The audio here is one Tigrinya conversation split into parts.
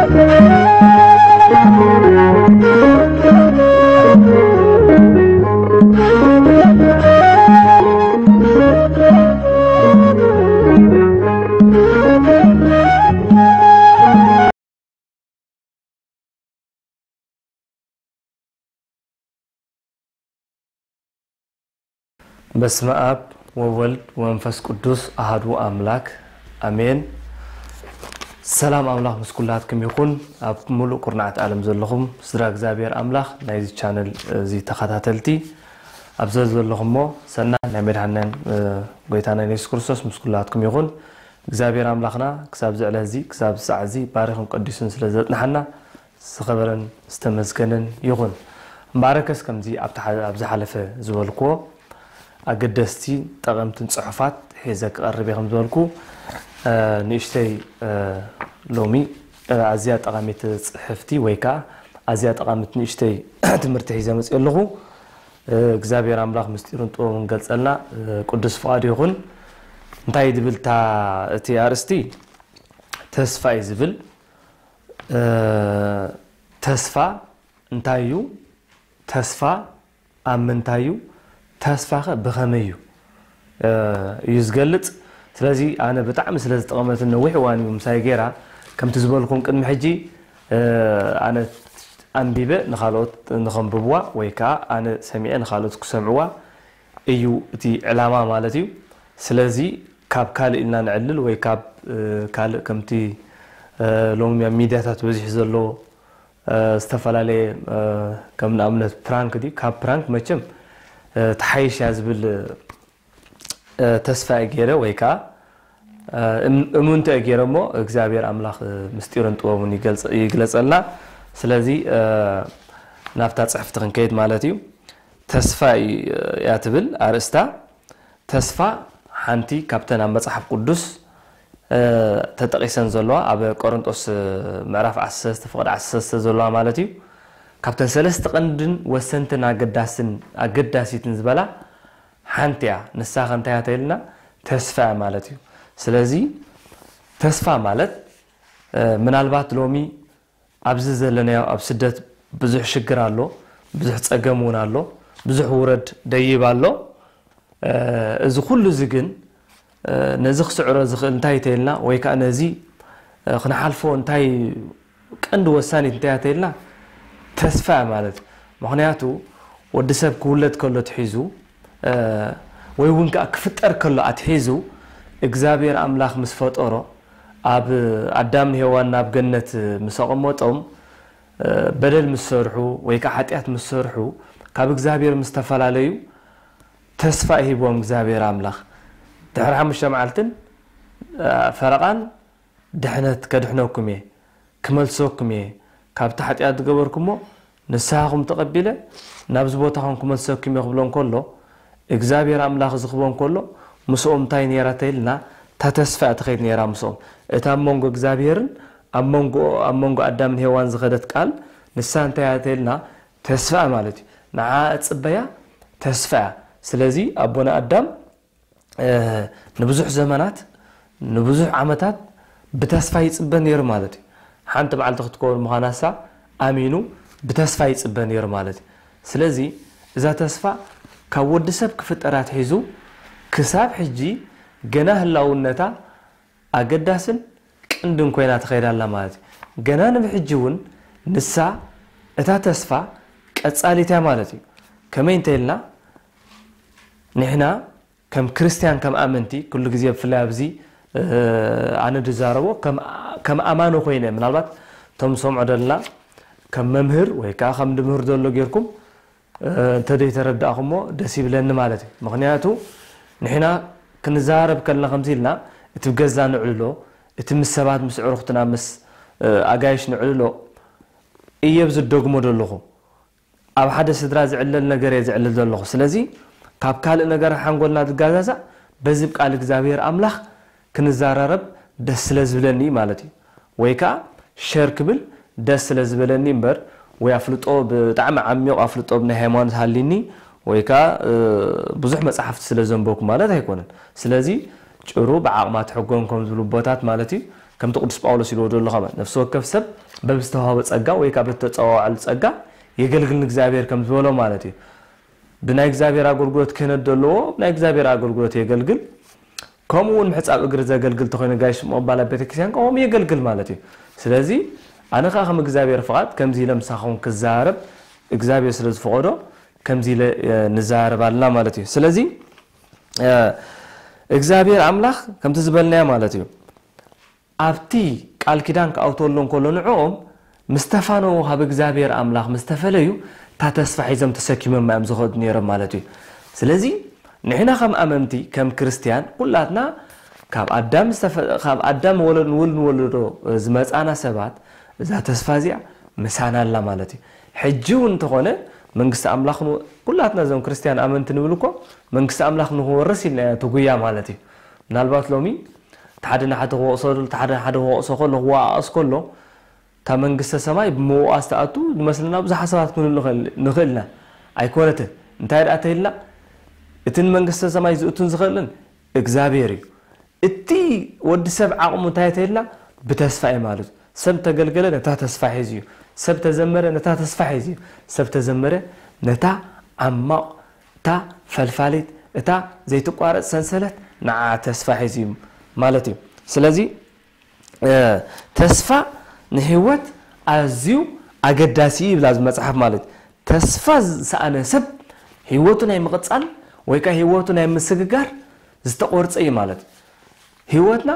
በስመ ኣብ ወወልድ ወመንፈስ ቅዱስ ኣሃዱ ኣምላክ ኣሜን። ሰላም ኣምላኽ ምስ ኩላትኩም ይኹን። ኣብ ሙሉእ ኩርናዓት ዓለም ዘለኹም ስድራ እግዚኣብሔር ኣምላኽ ናይዚ ቻነል እዚ ተኸታተልቲ ኣብ ዘዘለኹሞ ሰናይ ናይ መድሓንናን ጎይታና የሱስ ክርስቶስ ምስ ኩላትኩም ይኹን። እግዚኣብሔር ኣምላኽና ክሳብ ዝዕለ እዚ ክሳብ ዝሳዕ እዚ ባሪኹን ቀዲሱን ስለ ዘጽንሓና ዝኸበረን ዝተመስገነን ይኹን። እምበኣርከስ ከምዚ ኣብቲ ኣ ዝሓለፈ ዝበልክዎ ኣገደስቲ ጠቐምትን ጽሑፋት ሒዘ ክቐርብ እየ ከም ዝበልኩ ንእሽተይ ሎሚ ኣዝያ ጠቓሚት ጽሕፍቲ ወይ ከዓ ኣዝያ ጠቓሚት ንእሽተይ ትምህርቲ ሒዘ መፅእ ኣለኹ። እግዚኣብሔር ኣምላኽ ምስጢሩን ጥበቡን ገልጸልና ቅዱስ ፍቓድ ይኹን። እንታይ ድብል እቲ ኣርእስቲ? ተስፋ እዩ ዝብል። ተስፋ እንታይ እዩ? ተስፋ ኣብ ምንታይ እዩ? ተስፋኸ ብኸመይ እዩ እዩ ዝገልጽ? ስለዚ ኣነ ብጣዕሚ ስለ ዝጠቐመትን ነዊሕ እዋን እዩ ምሳይ ገይራ። ከምቲ ዝበልኩም ቅድሚ ሕጂ ኣነ ኣንቢበ ንኻልኦት ንኸንብብዋ ወይ ከዓ ኣነ ሰሚዐ ንኻልኦት ክሰምዕዋ እዩ እቲ ዕላማ ማለት እዩ። ስለዚ ካብ ካልእ ኢልና ንዕልል ወይ ካብ ካልእ ከምቲ ሎሚ ኣብ ሚድያታት በዚሑ ዘሎ ዝተፈላለየ ከም ንኣብነት ፕራንክ ድዩ ካብ ፕራንክ መቸም ትሓይሽ እያ ዝብል ተስፋ እየ ገይረ ወይ ከዓ እምንቶ እየ ገይረ እሞ እግዚኣብሔር ኣምላኽ ምስጢርን ጥበቡን ይግለጸልና። ስለዚ ናብታ ፅሕፍቲ ክንከይድ ማለት እዩ። ተስፋ እያ ትብል ኣርእስታ። ተስፋ ሓንቲ ካብተን ኣብ መጽሓፍ ቅዱስ ተጠቒሰን ዘለዋ ኣብ ቆሮንጦስ ምዕራፍ ዓሰርተ ፍቕዲ ዓሰርተ ዘለዋ ማለት እዩ። ካብተን ሰለስተ ቀንድን ወሰንትን ኣገዳስን ኣገዳሲትን ዝበላ ሓንቲ እያ። ንሳ ከ እንታይ እያ ተይልና? ተስፋ እያ ማለት እዩ። ስለዚ ተስፋ ማለት ምናልባት ሎሚ ኣብዚ ዘለናዮ ኣብ ስደት ብዙሕ ሽግር ኣሎ፣ ብዙሕ ጸገም እውን ኣሎ፣ ብዙሕ ውረድ ደይብ ኣሎ። እዚ ኩሉ እዚ ግን ነዚ ክስዕሮ ዝኽእል እንታይ ተይልና ወይ ከዓ ነዚ ክንሓልፎ እንታይ ቀንዲ ወሳኒት እንታይ ተይልና ተስፋ ማለት እዩ። ምኽንያቱ ወዲ ሰብ ክውለድ ከሎ ትሒዙ ወይ እውን ከዓ ክፍጠር ከሎ ኣትሒዙ እግዚኣብሔር ኣምላኽ ምስ ፈጠሮ ኣብ ኣዳምን ሄዋን ናብ ገነት ምስ ኣቐመጦም በደል ምስ ሰርሑ ወይ ከዓ ሓጢኣት ምስ ሰርሑ ካብ እግዚኣብሔር ምስ ተፈላለዩ ተስፋ ሂብዎም እግዚኣብሔር ኣምላኽ ድሕሪ ሓሙሽተ መዓልትን ፈረቓን ድሕነት ከድሕነኩም እየ ክመልሰኩም እየ ካብቲ ሓጢኣት ዝገበርኩሞ ንስሃኹም ተቐቢለ ናብዚ ቦታኹም ክመልሰኩም እየ ክብሎም ከሎ እግዚኣብሔር ኣምላኽ ዝኽቦም ከሎ ምስኦም እንታይ ነይራ ተይልና እታ ተስፋ እያ ትኸይድ ነይራ ምስኦም እታ ኣብ መንጎ እግዚኣብሔርን ኣብ መንጎ ኣብ መንጎ ኣዳምን ሄዋን ዝኸደት ቃል ንሳ እንታይ እያ ተይልና ተስፋ ማለት እዩ ንዓ እጽበያ ተስፋ እያ ስለዚ ኣቦና ኣዳም ንብዙሕ ዘመናት ንብዙሕ ዓመታት ብተስፋ ይጽበ ነይሩ ማለት እዩ። ሓንቲ በዓልቲ ክትከውን ምዃናሳ ኣሚኑ ብተስፋ ይጽበ ነይሩ ማለት እዩ። ስለዚ እዛ ተስፋ ካብ ወዲ ሰብ ክፍጠር ኣትሒዙ ክሳብ ሕጂ ገና ህላውነታ ኣገዳስን ቀንድን ኮይና ትኸይድ ኣላ ማለት እዩ። ገና ንብሕጂ እውን ንሳ እታ ተስፋ ቀጻሊት እያ ማለት እዩ። ከመይ እንተኢልና ንሕና ከም ክርስትያን ከም ኣመንቲ ኩሉ ግዜ ብፍላይ ኣብዚ ኣነ ድዛረቦ ከም ኣማኒ ኮይነ ምናልባት እቶም ዝሰምዖ ደለና ከም መምህር ወይ ከዓ ከም ድምህር ዘሎ ጌርኩም እንተደይተረዳእኹሞ ደስ ይብለኒ ማለት እዩ ምክንያቱ ንሕና ክንዛረብ ከልና ከምዚ ኢልና እቲ ብገዛ ንዕልሎ እቲ ምስ ሰባት ምስ ዕሩኽትና ምስ ኣጋይሽ ንዕልሎ እየብ ዝደግሞ ዘለኹ ኣብ ሓደ ስድራ ዝዕለል ነገር እየ ዝዕልል ዘለኹ። ስለዚ ካብ ካልእ ነገር ሓንጎልና ዝጋዛዛእ በዚ ብ ቃል እግዚኣብሔር ኣምላኽ ክንዛራረብ ደስ ስለ ዝብለኒ እዩ ማለት እዩ። ወይ ከኣ ሸር ክብል ደስ ስለ ዝበለኒ እምበር ወይ ኣፍልጦ ብጣዕሚ ዓሚቕ ኣፍልጦ ብናይ ሃይማኖት ሃልይኒ ወይ ከኣ ብዙሕ መጽሓፍቲ ስለ ዘንበብኩ ማለት ኣይኮነን። ስለዚ ጭሩ ብዓቕማ ትሕጎን ከም ዝብሉ ኣቦታት ማለት እዩ ከምቲ ቅዱስ ጳውሎስ ኢልዎ ዘሎ ከመ ነፍሲ ወከፍ ሰብ በብዝተዋህቦ ጸጋ ወይ ካብ እተጸዋወዐሉ ጸጋ የገልግል ንእግዚኣብሔር ከም ዝበሎ ማለት እዩ። ብናይ እግዚኣብሔር ኣገልግሎት ክህነት ዘለዎ ናይ እግዚኣብሔር ኣገልግሎት የገልግል። ከምኡ እውን ምሕጻብ እግሪ ዘገልግል ተኾይኑ ጋይሽ ምቕባል ኣብ ቤተክርስትያን ከምኡ የገልግል ማለት እዩ። ስለዚ ኣነ ከዓ ከም እግዚኣብሔር ፍቓድ ከምዚ ኢለ ምሳኹም ክዛረብ እግዚኣብሔር ስለ ዝፈቐዶ ከምዚ ኢለ ንዛረብ ኣለና ማለት እዩ። ስለዚ እግዚኣብሔር ኣምላኽ ከምቲ ዝበልናዮ ማለት እዩ። ኣብቲ ቃል ኪዳን ክኣውተሉ እንከሎ ንዕኦም ምስ ተፋነዉ ካብ እግዚኣብሔር ኣምላኽ ምስ ተፈለዩ እታ ተስፋ ሒዞም ተሰኪሞም እዮም ዝኸዱ ነይሮም ማለት እዩ። ስለዚ ንሕና ከም ኣመንቲ ከም ክርስትያን ኩላትና ካብ ኣዳም ዝተፈ- ካብ ኣዳም ወለድ ንውል ንወለዶ ዝመፃና ሰባት እዛ ተስፋ እዚኣ ምሳና ኣላ ማለት እዩ። ሕጂ እውን እንተኾነ መንግስቲ ኣምላኽ ን- ኩላትና እዞም ክርስትያን ኣመንቲ ንብል እኮ መንግስቲ ኣምላኽ ንክወርስ ኢልና ኢና ትጉያ ማለት እዩ። ምናልባት ሎሚ እቲ ሓደ ንሓደ ክወቕሶ እቲ ሓደ ሓደ ክወቕሶ ከሎ ክወቃቐስ ከሎ እታ መንግስተ ሰማይ ብምውቃስ ትኣቱ ዝመስለና ብዙሓት ሰባት ክንህሉ ንኽእል ኢና። ኣይኮነትን። እንታይ ደኣ ተይልና እቲ ንመንግስተ ሰማይ ዝእቱን ዝኽእልን እግዚኣብሔር እዩ። እቲ ወዲ ሰብ ዓቕሙ እንታይ ተይልና ብተስፋ እዩ ማለት እዩ። ሰብ ተገልገለ ነታ ተስፋ ሒዙ እዩ። ሰብ ተዘመረ ነታ ተስፋ ሒዙ እዩ። ሰብ ተዘመረ ነታ ዓማቕ እታ ፈልፋሊት እታ ዘይትቋረፅ ሰንሰለት ንዓ ተስፋ ሒዙ እዩ ማለት እዩ። ስለዚ ተስፋ ንህይወት ኣዝዩ ኣገዳሲ እዩ ይብል ኣብዚ መፅሓፍ ማለት እዩ። ተስፋ ዝሰኣነ ሰብ ህይወቱ ናይ ምቕፃል ወይ ከዓ ህይወቱ ናይ ምስግጋር ዝተቆርፀ እዩ ማለት እዩ። ህይወትና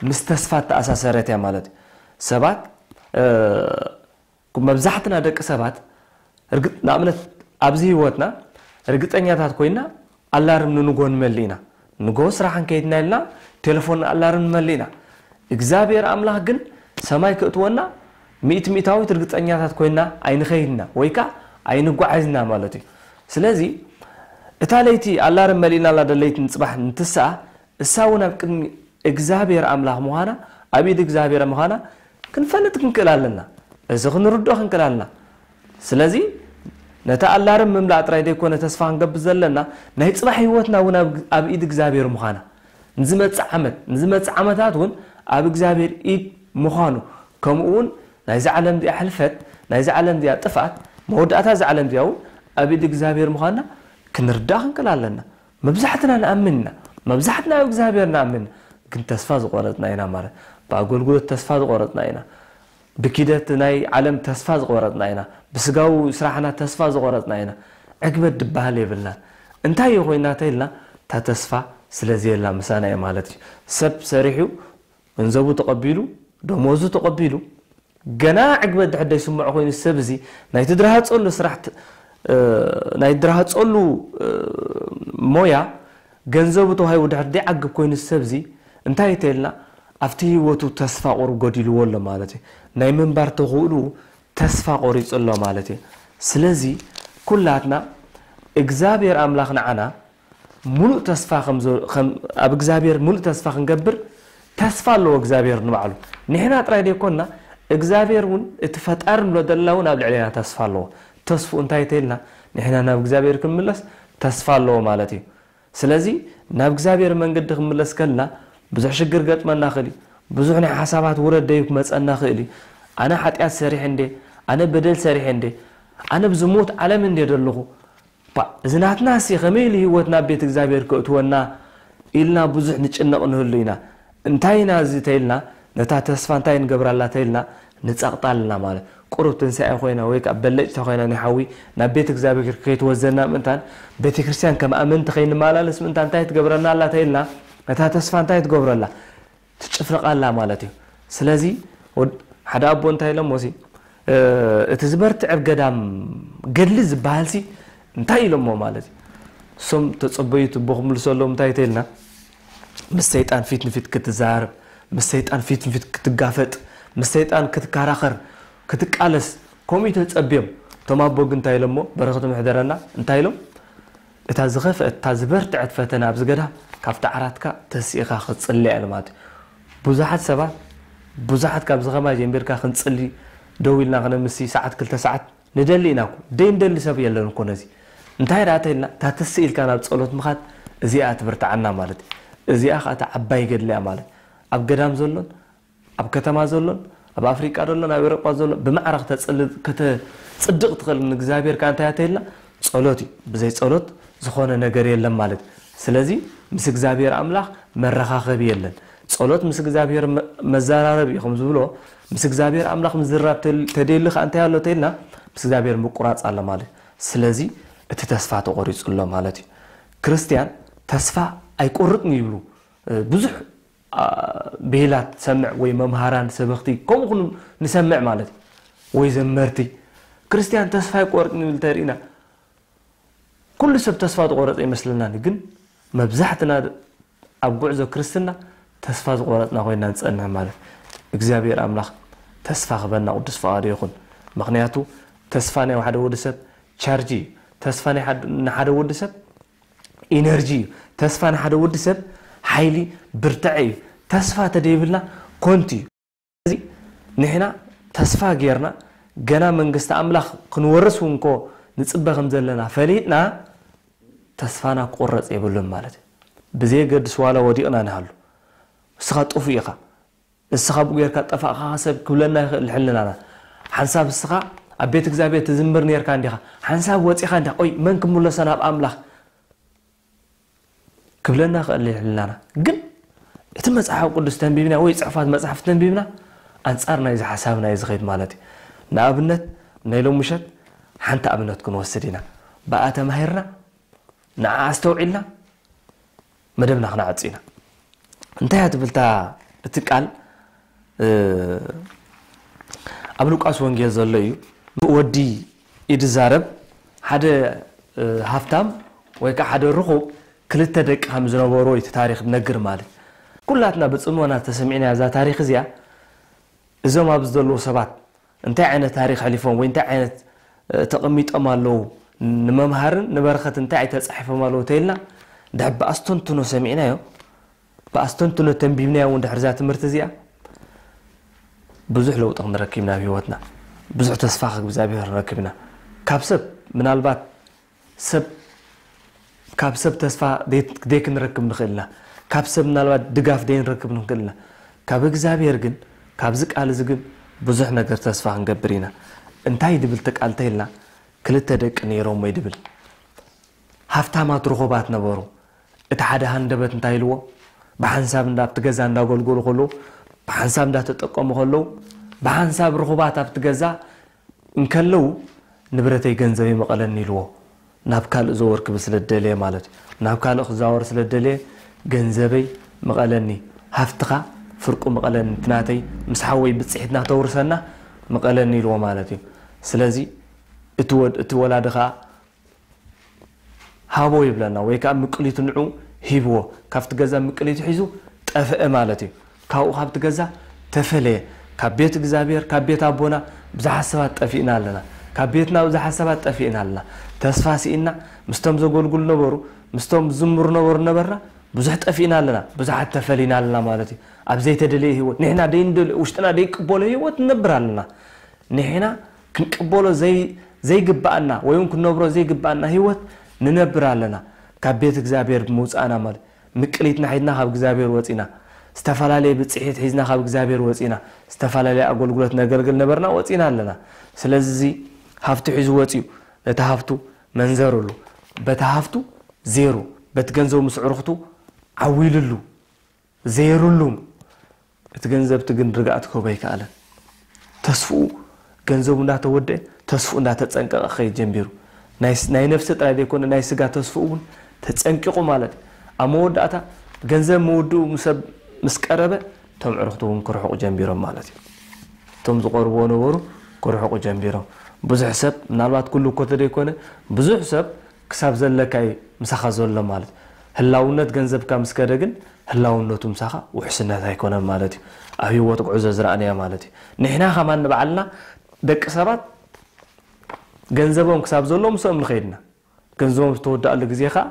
ምስ ተስፋ ተኣሳሰረት እያ ማለት እዩ። ሰባት መብዛሕትና ደቂ ሰባት ንኣብነት ኣብዚ ህይወትና ርግፀኛታት ኮይና ኣላርም ንንጎ ንመሊ ኢና። ንጎ ስራሕ እንከይድና ኢልና ቴሌፎን ኣላርም ንመሊ ኢና። እግዚኣብሔር ኣምላኽ ግን ሰማይ ክእትወና ሚእቲ ሚእታዊት ርግፀኛታት ኮይና ኣይንኸይድና ወይ ከዓ ኣይንጓዓዝና ማለት እዩ። ስለዚ እታ ለይቲ ኣላርም መሊእና ኣላ ደለይቲ ንፅባሕ እንትስኣ እሳ እውን ኣብ ቅድሚ እግዚኣብሔር ኣምላኽ ምዃና ኣብ ኢድ እግዚኣብሔር ምዃና ክንፈልጥ ክንክእል ኣለና። እዚ ክንርድኦ ክንክእል ኣለና። ስለዚ ነቲ ኣላርም ምምላእ ጥራይ ዘይኮነ ተስፋ ክንገብር ዘለና ናይ ፅባሕ ህይወትና እውን ኣብ ኢድ እግዚኣብሔር ምዃና ንዝመፅእ ዓመት ንዝመፅእ ዓመታት እውን ኣብ እግዚኣብሔር ኢድ ምዃኑ ከምኡ እውን ናይዚ ዓለም እዚኣ ሕልፈት ናይዚ ዓለም እዚኣ ጥፍኣት መወዳእታ እዚ ዓለም እዚኣ እውን ኣብ ኢድ እግዚኣብሔር ምዃንና ክንርዳእ ክንክእል ኣለና። መብዛሕትና ንኣምን ኢና። መብዛሕትና ኣብ እግዚኣብሔር ንኣምን ግን ተስፋ ዝቆረፅና ኢና ማለት ብኣገልግሎት ተስፋ ዝቆረፅና ኢና። ብኪደት ናይ ዓለም ተስፋ ዝቆረፅና ኢና። ብስጋዊ ስራሕና ተስፋ ዝቆረፅና ኢና። ዕግበት ድበሃል የብልናን። እንታይ እዩ ኮይና ተይልና እታ ተስፋ ስለዘየላ ምሳና እዩ ማለት እዩ። ሰብ ሰሪሑ ገንዘቡ ተቐቢሉ ደሞዙ ተቐቢሉ ገና ዕግበት ድሕር ደይስምዖ ኮይኑ ሰብ እዚ ናይ ትድረሃፀሉ ስራሕ ናይ ድረሃፀሉ ሞያ ገንዘቡ ተዋሂቡ ድሕር ደይዓግብ ኮይኑ ሰብ እዚ እንታይ ተይልና ኣብቲ ህይወቱ ተስፋ ቁሩብ ጎዲልዎ ኣሎ ማለት እዩ። ናይ ምንባር ተኽእሉ ተስፋ ቆሪፁ ኣሎ ማለት እዩ። ስለዚ ኩላትና እግዚኣብሔር ኣምላኽ ንዓና ሙሉእ ተስፋ ኣብ እግዚኣብሔር ሙሉእ ተስፋ ክንገብር ተስፋ ኣለዎ እግዚኣብሔር ንባዕሉ። ንሕና ጥራይ ዘይኮንና እግዚኣብሔር እውን እቲ ፈጣሪ ንብሎ ዘለና እውን ኣብ ልዕሌና ተስፋ ኣለዎ። ተስፍኡ እንታይ ተይልና ንሕና ናብ እግዚኣብሔር ክንምለስ ተስፋ ኣለዎ ማለት እዩ። ስለዚ ናብ እግዚኣብሔር መንገዲ ክንምለስ ከልና ብዙሕ ሽግር ገጥመና ክእል እዩ። ብዙሕ ናይ ሓሳባት ውረድ ደዩ ክመፀና ክእል እዩ። ኣነ ሓጢኣት ሰሪሐ እንዴ ኣነ በደል ሰሪሐ እንዴ ኣነ ብዝሙት ዓለም እንዴ ደለኹ እዚ ናትና ሲ ከመይ ኢሉ ህይወት ናብ ቤት እግዚኣብሔር ክእትወና ኢልና ብዙሕ ንጭነቕ ንህሉ ኢና። እንታይ ኢና እዚ ተይልና ነታ ተስፋ እንታይ ንገብራላ ተይልና ንጸቕጣ ኣለና ማለት ቁሩብ ትንሳኤ ኮይና ወይ ከዓ በለጭታ ኮይና ናይ ሓዊ ናብ ቤት እግዚኣብሔር ከይትወዘና ምእንታን ቤተ ክርስቲያን ከም ኣመንቲ ከይንመላለስ ምእንታ እንታይ ትገብረና ኣላ ተይልና ነታ ተስፋ እንታይ ትገብረላ ትጭፍልቕ ኣላ ማለት እዩ። ስለዚ ሓደ ኣቦ እንታይ ኢሎሞ ሲ እቲ ዝበርትዕ ኣብ ገዳም ገድሊ ዝበሃል ሲ እንታይ ኢሎሞ ማለት እዩ። እሶም ተፀበዩ ትቦ ክምልሰሎም እንታይ ተይልና ምስ ሰይጣን ፊት ንፊት ክትዛረብ ምስ ሰይጣን ፊት ንፊት ክትጋፈጥ ምስ ሰይጣን ክትከራኸር ክትቃለስ ከምኡ ተፀብዮም እቶም ኣቦ ግን እንታይ ኢሎሞ በረኸቶም ይሕደረና እንታይ ኢሎም እታ ዝኸፍአት እታ ዝበርትዐት ፈተነ ኣብዚ ገዳም ካብቲ ዓራትካ ተሲእኻ ክትጽሊ እያ ኢሉ ማለት እዩ። ብዙሓት ሰባት ብዙሓት ካብዚ ከማይ ጀሚርካ ክንጽሊ ደው ኢልና ክነምሲ ሰዓት ክልተ ሰዓት ንደሊ ኢና እኮ ደይ ንደሊ ሰብ የለን እኮ ነዚ እንታይ ደኣ ተይልና እታ ተስእ ኢልካ ናብ ጸሎት ምኻድ እዚኣ ትብርትዓና ማለት እዩ። እዚኣ ከዓ እታ ዓባይ ገድሊ እያ ማለት ኣብ ገዳም ዘሎን ኣብ ከተማ ዘሎን ኣብ ኣፍሪቃ ዘሎን ኣብ ኤውሮጳ ዘሎን ብማዕረ ከተጽድቕ ትኽእል ንእግዚኣብሔር ከኣ እንታይ ኣተይልና? ጸሎት እዩ። ብዘይ ጸሎት ዝኾነ ነገር የለን ማለት እዩ። ስለዚ ምስ እግዚኣብሔር ኣምላኽ መረኻኸቢ የለን። ጸሎት ምስ እግዚኣብሔር መዘራረብ እዩ ከም ዝብሎ፣ ምስ እግዚኣብሔር ኣምላኽ ምዝራብ ተደሊ ከኣ እንታይ ኣሎ ተይልና? ምስ እግዚኣብሔር ምቁራጽ ኣሎ ማለት እዩ። ስለዚ እቲ ተስፋ ተቖሪጹ ኣሎ ማለት እዩ። ክርስትያን ተስፋ ኣይቆርጥን ይብሉ ብዙሕ ብሂላት ትሰምዕ ወይ መምሃራን ሰበኽቲ ከምኡ ኩሉ ንሰምዕ ማለት እዩ። ወይ ዘመርቲ ክርስትያን ተስፋ ኣይቆርጥን ይብል ተሪእና ኩሉ ሰብ ተስፋ ዝቆረጸ ይመስለና፣ ግን መብዛሕትና ኣብ ጉዕዞ ክርስትና ተስፋ ዝቆረጽና ኮይና ንጸንሕ ማለት። እግዚኣብሔር ኣምላኽ ተስፋ ክበና ቅዱስ ፈቓዱ ይኹን። ምኽንያቱ ተስፋ ናይ ሓደ ወዲ ሰብ ቻርጅ እዩ። ተስፋ ናይ ሓደ ወዲ ሰብ ኢነርጂ እዩ። ተስፋ ንሓደ ወዲ ሰብ ሓይሊ ብርትዐ እዩ። ተስፋ ተደይብልና ኮንቲ እዩ። ስለዚ ንሕና ተስፋ ጌርና ገና መንግስቲ ኣምላኽ ክንወርስ እውን ኮ ንጽበ ከም ዘለና ፈሊጥና ተስፋና ክቁረጽ የብሉን ማለት እዩ። ብዘየገድስ ዋላ ወዲቕና ንሃሉ እስኻ ጥፉእ ኢኻ። እስኻ ብኡ ጌርካ ጠፋእኻ ሰብ ክብለና ይኽእል ሕልናና። ሓንሳብ እስኻ ኣብ ቤት እግዚኣብሔር ትዝምር ኔርካ እንዲኻ፣ ሓንሳብ ወጺኻ እንዲኻ፣ ኦይ መን ክምለሶ ናብ ኣምላኽ ክብለና ይኽእል ሕልናና። ግን እቲ መጽሓፍ ቅዱስ ተንቢብና ወይ ጽሑፋት መጽሓፍ ተንቢብና ኣንጻር ናይዚ ሓሳብና እዩ ዝኸይድ ማለት እዩ። ንኣብነት ናይ ሎሚ ምሸት ሓንቲ ኣብነት ክንወስድ ኢና። ብኣ ተማሂርና ንዓ ኣስተውዒልና መደብና ክነዓጽ ኢና። እንታይ እያ ትብልታ እቲ ቃል? ኣብ ሉቃስ ወንጌል ዘሎ እዩ። ወዲ እዩ ዝዛረብ። ሓደ ሃፍታም ወይ ከዓ ሓደ ርኹብ ክልተ ደቂ ከም ዝነበሮ እቲ ታሪክ ነግር ማለት። ኩላትና ብፅሞና ተሰሚዕና እዛ ታሪክ እዚኣ እዞም ኣብዚ ዘለዉ ሰባት እንታይ ዓይነት ታሪክ ሕሊፎም ወይ እንታይ ዓይነት ተቐሚጦም ኣለዉ፣ ንመምሃርን ንበረኸት እንታይ ተፃሒፎም ኣለዉ ተይልና ድሕር ብኣስተንትኖ ሰሚዕናዮ፣ ብኣስተንትኖ ተንቢብናዮ እውን ድሕር እዛ ትምህርቲ እዚኣ ብዙሕ ለውጢ ክንረክብ ኢና ኣብ ህይወትና። ብዙሕ ተስፋ ካብ እግዚኣብሔር ንረክብ ኢና። ካብ ሰብ ምናልባት ሰብ ካብ ሰብ ተስፋ ደይ ክንረክብ ንኽእል ኢና። ካብ ሰብ ምናልባት ድጋፍ ደይ ንረክብ ንኽእል ኢና። ካብ እግዚኣብሔር ግን ካብዚ ቃል እዚ ግን ብዙሕ ነገር ተስፋ ክንገብር ኢና። እንታይ ድብል ተቃልተ ኢልና ክልተ ደቂ ነይሮም ወይ ድብል ሃፍታማት ርኹባት ነበሩ። እቲ ሓደ ሃንደበት እንታይ ኢልዎ? ብሓንሳብ እንዳ ኣብቲ ገዛ እንዳገልገሉ ከለዉ ብሓንሳብ እንዳተጠቀሙ ከለዉ ብሓንሳብ ርኹባት ኣብቲ ገዛ እንከለዉ ንብረተይ ገንዘበይ መቐለኒ ኢልዎ። ናብ ካልእ ዘወር ክብል ስለ ደለየ ማለት እዩ። ናብ ካልእ ክዛወር ስለ ደለየ ገንዘበይ መቐለኒ፣ ሃፍትኻ ፍርቁ መቐለኒ፣ እቲ ናተይ ምስ ሓወይ ብፅሒትና ተውርሰና መቐለኒ ኢልዎ ማለት እዩ። ስለዚ እቲ ወድ እቲ ወላዲ ከዓ ሃቦ ይብለና ወይ ከዓ ምቅሊቱ ንዑ ሂብዎ። ካብቲ ገዛ ምቅሊቱ ሒዙ ጠፍአ ማለት እዩ። ካብኡ ካብቲ ገዛ ተፈለየ። ካብ ቤት እግዚኣብሔር ካብ ቤት ኣቦና ብዙሓት ሰባት ጠፊእና ኣለና። ካብ ቤትና ብዙሓት ሰባት ጠፊእና ኣለና። ተስፋ ስኢና ምስቶም ዘገልግሉ ነበሩ ምስቶም ዝዝምሩ ነበሩ ነበርና ብዙሕ ጠፊእና ኣለና። ብዙሓት ተፈሊና ኣለና ማለት እዩ። ኣብ ዘይተደለየ ህይወት ንሕና ደይንደልዮ ውሽጥና ደይቅበሎ ህይወት ንነብር ኣለና። ንሕና ክንቅበሎ ዘይግብኣና ወይ እውን ክንነብሮ ዘይግብኣና ህይወት ንነብር ኣለና። ካብ ቤት እግዚኣብሔር ብምውፃእና ማለት ምቅሊትና ሒዝና ካብ እግዚኣብሔር ወፂና፣ ዝተፈላለየ ብፅሒት ሒዝና ካብ እግዚኣብሔር ወፂና፣ ዝተፈላለየ ኣገልግሎት ነገልግል ነበርና ወፂና ኣለና። ስለዚ እዚ ሃፍቱ ሒዙ ወፂኡ ነቲ ሃፍቱ መንዘርሉ፣ በቲ ሃፍቱ ዜሩ፣ በቲ ገንዘቡ ምስ ዕርኽቱ ዓዊልሉ፣ ዘይሩሉም እቲ ገንዘብቲ ግን ርግኣት ክህቦ ኣይከኣለን። ተስፍኡ ገንዘቡ እንዳተወደአ ተስፍኡ እንዳተፀንቀቐ ክኸይድ ጀሚሩ። ናይ ነፍሲ ጥራይ ዘይኮነ ናይ ስጋ ተስፍኡ እውን ተፀንቂቑ ማለት እዩ። ኣብ መወዳእታ ገንዘብ ምውድኡ ሰብ ምስ ቀረበ እቶም ዕርኽቱ እውን ክርሕቑ ጀሚሮም ማለት እዩ። እቶም ዝቐርብዎ ነበሩ ክርሕቑ ጀሚሮም። ብዙሕ ሰብ ምናልባት ኩሉ እኮ ተደይኮነ ብዙሕ ሰብ ክሳብ ዘለካ እዩ ምሳኻ ዘሎ ማለት። ህላውነት ገንዘብካ ምስ ከደ ግን ህላውነቱ ምሳኻ ውሕስነት ኣይኮነን ማለት እዩ። ኣብ ህይወት ጉዕዞ ዝረኣናዮ ማለት እዩ። ንሕና ከማን ንባዕልና ደቂ ሰባት ገንዘቦም ክሳብ ዘሎ ምስኦም ንኸይድና ገንዘቦም ዝተወዳኣሉ ግዜ ከዓ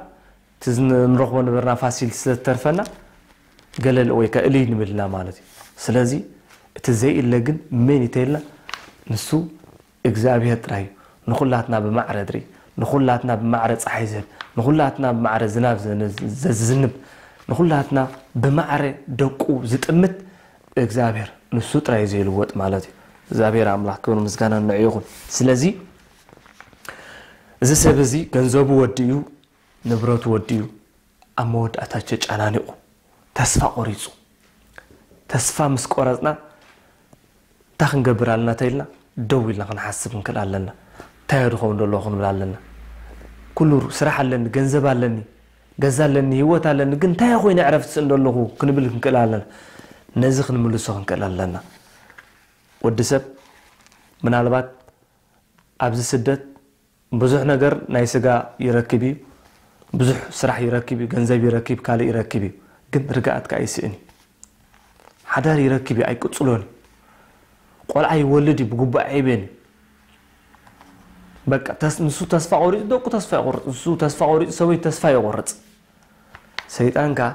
እቲ ንረኽቦ ነበርና ፋሲል ስለዝተርፈና ገለል ወይ ከዓ እልይ ንብልና ማለት እዩ። ስለዚ እቲ ዘይእለ ግን መን እዩ ተይልና ንሱ እግዚኣብሔር ጥራይ እዩ። ንኹላትና ብማዕረ ድርኢ፣ ንኹላትና ብማዕረ ፀሓይ ዝህብ፣ ንኹላትና ብማዕረ ዝናብ ዘዝንብ፣ ንኹላትና ብማዕረ ደቁ ዝጥምት እግዚኣብሔር ንሱ ጥራይ ዘይልወጥ ማለት እዩ። እግዚኣብሔር ኣምላኽ ክብሪ ምስጋና ንዕኡ ይኹን። ስለዚ እዚ ሰብ እዚ ገንዘቡ ወዲኡ፣ ንብረቱ ወዲኡ፣ ኣብ መወዳእታ ተጨናኒቑ፣ ተስፋ ቆሪጹ። ተስፋ ምስ ቆረጽና እንታይ ክንገብር ኣለና ተኢልና ደው ኢልና ክንሓስብ ክንክእል ኣለና። እንታይ እየ ድኸውን ዘለኹ ክንብል ኣለና። ኩሉ ስራሕ ኣለኒ፣ ገንዘብ ኣለኒ፣ ገዛ ኣለኒ፣ ህይወት ኣለኒ፣ ግን እንታይ ኮይነ ዕረፍቲ ስእን ዘለኹ ክንብል ክንክእል ኣለና። ነዚ ክንምልሶ ክንክእል ኣለና። ወዲ ሰብ ምናልባት ኣብዚ ስደት ብዙሕ ነገር ናይ ስጋ ይረክብ እዩ፣ ብዙሕ ስራሕ ይረክብ እዩ፣ ገንዘብ ይረክብ፣ ካልእ ይረክብ እዩ፣ ግን ርግኣት ከኣ ይስእን እዩ። ሓዳር ይረክብ እዩ፣ ኣይቅጽሎን እዩ። ቆልዓ ይወልድ እዩ፣ ብግቡእ ኣይዕብየን እዩ። በቃ ተስ-፣ ንሱ ተስፋ ቆሪጹ ደቁ ተስፋ ይቆርጽ፣ ንሱ ተስፋ ቆሪጹ ሰበይቱ ተስፋ ይቆርጽ። ሰይጣን ከኣ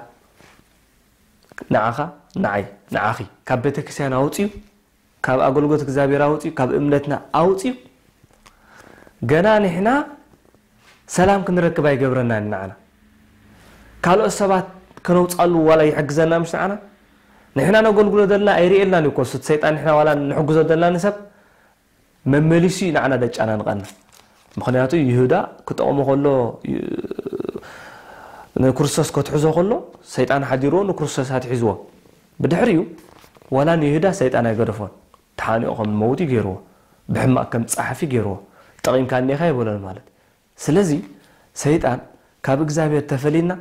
ንዓኻ፣ ንዓይ፣ ንዓኺ ካብ ቤተክርስትያን ኣውጺኡ፣ ካብ ኣገልግሎት እግዚኣብሔር ኣውጺኡ፣ ካብ እምነትና ኣውጺኡ፣ ገና ንሕና ሰላም ክንረክብ ኣይገብረናን ንዓና። ካልኦት ሰባት ከነውጻሉ ዋላ ይሕግዘና ምሽ ንዓና። ንሕና ነገልግሎ ዘለና ኣይርእየልናን እዩ እኮ፣ እሱ ሰይጣን ንሕና ዋላ ንሕግዞ ዘለና ንሰብ መመሊሱ እዩ ንዓና ደጫናንቐና። ምኽንያቱ ይሁዳ ክጠቕሞ ከሎ፣ ይ-፣ ንክርስቶስ ከትሕዞ ከሎ፣ ሰይጣን ሓዲርዎ ንክርስቶስ ኣትሒዝዎ። ብድሕሪኡ ዋላ ንይሁዳ ሰይጣን ኣይገደፎን። ተሓኒቑ ከም መውቲ ገይርዎ፣ ብሕማቕ ከም ጸሓፊ ገይርዎ። ጠቒምካ እኒኻ ይበሎን ማለት። ስለዚ ሰይጣን ካብ እግዚኣብሔር ተፈሊና፣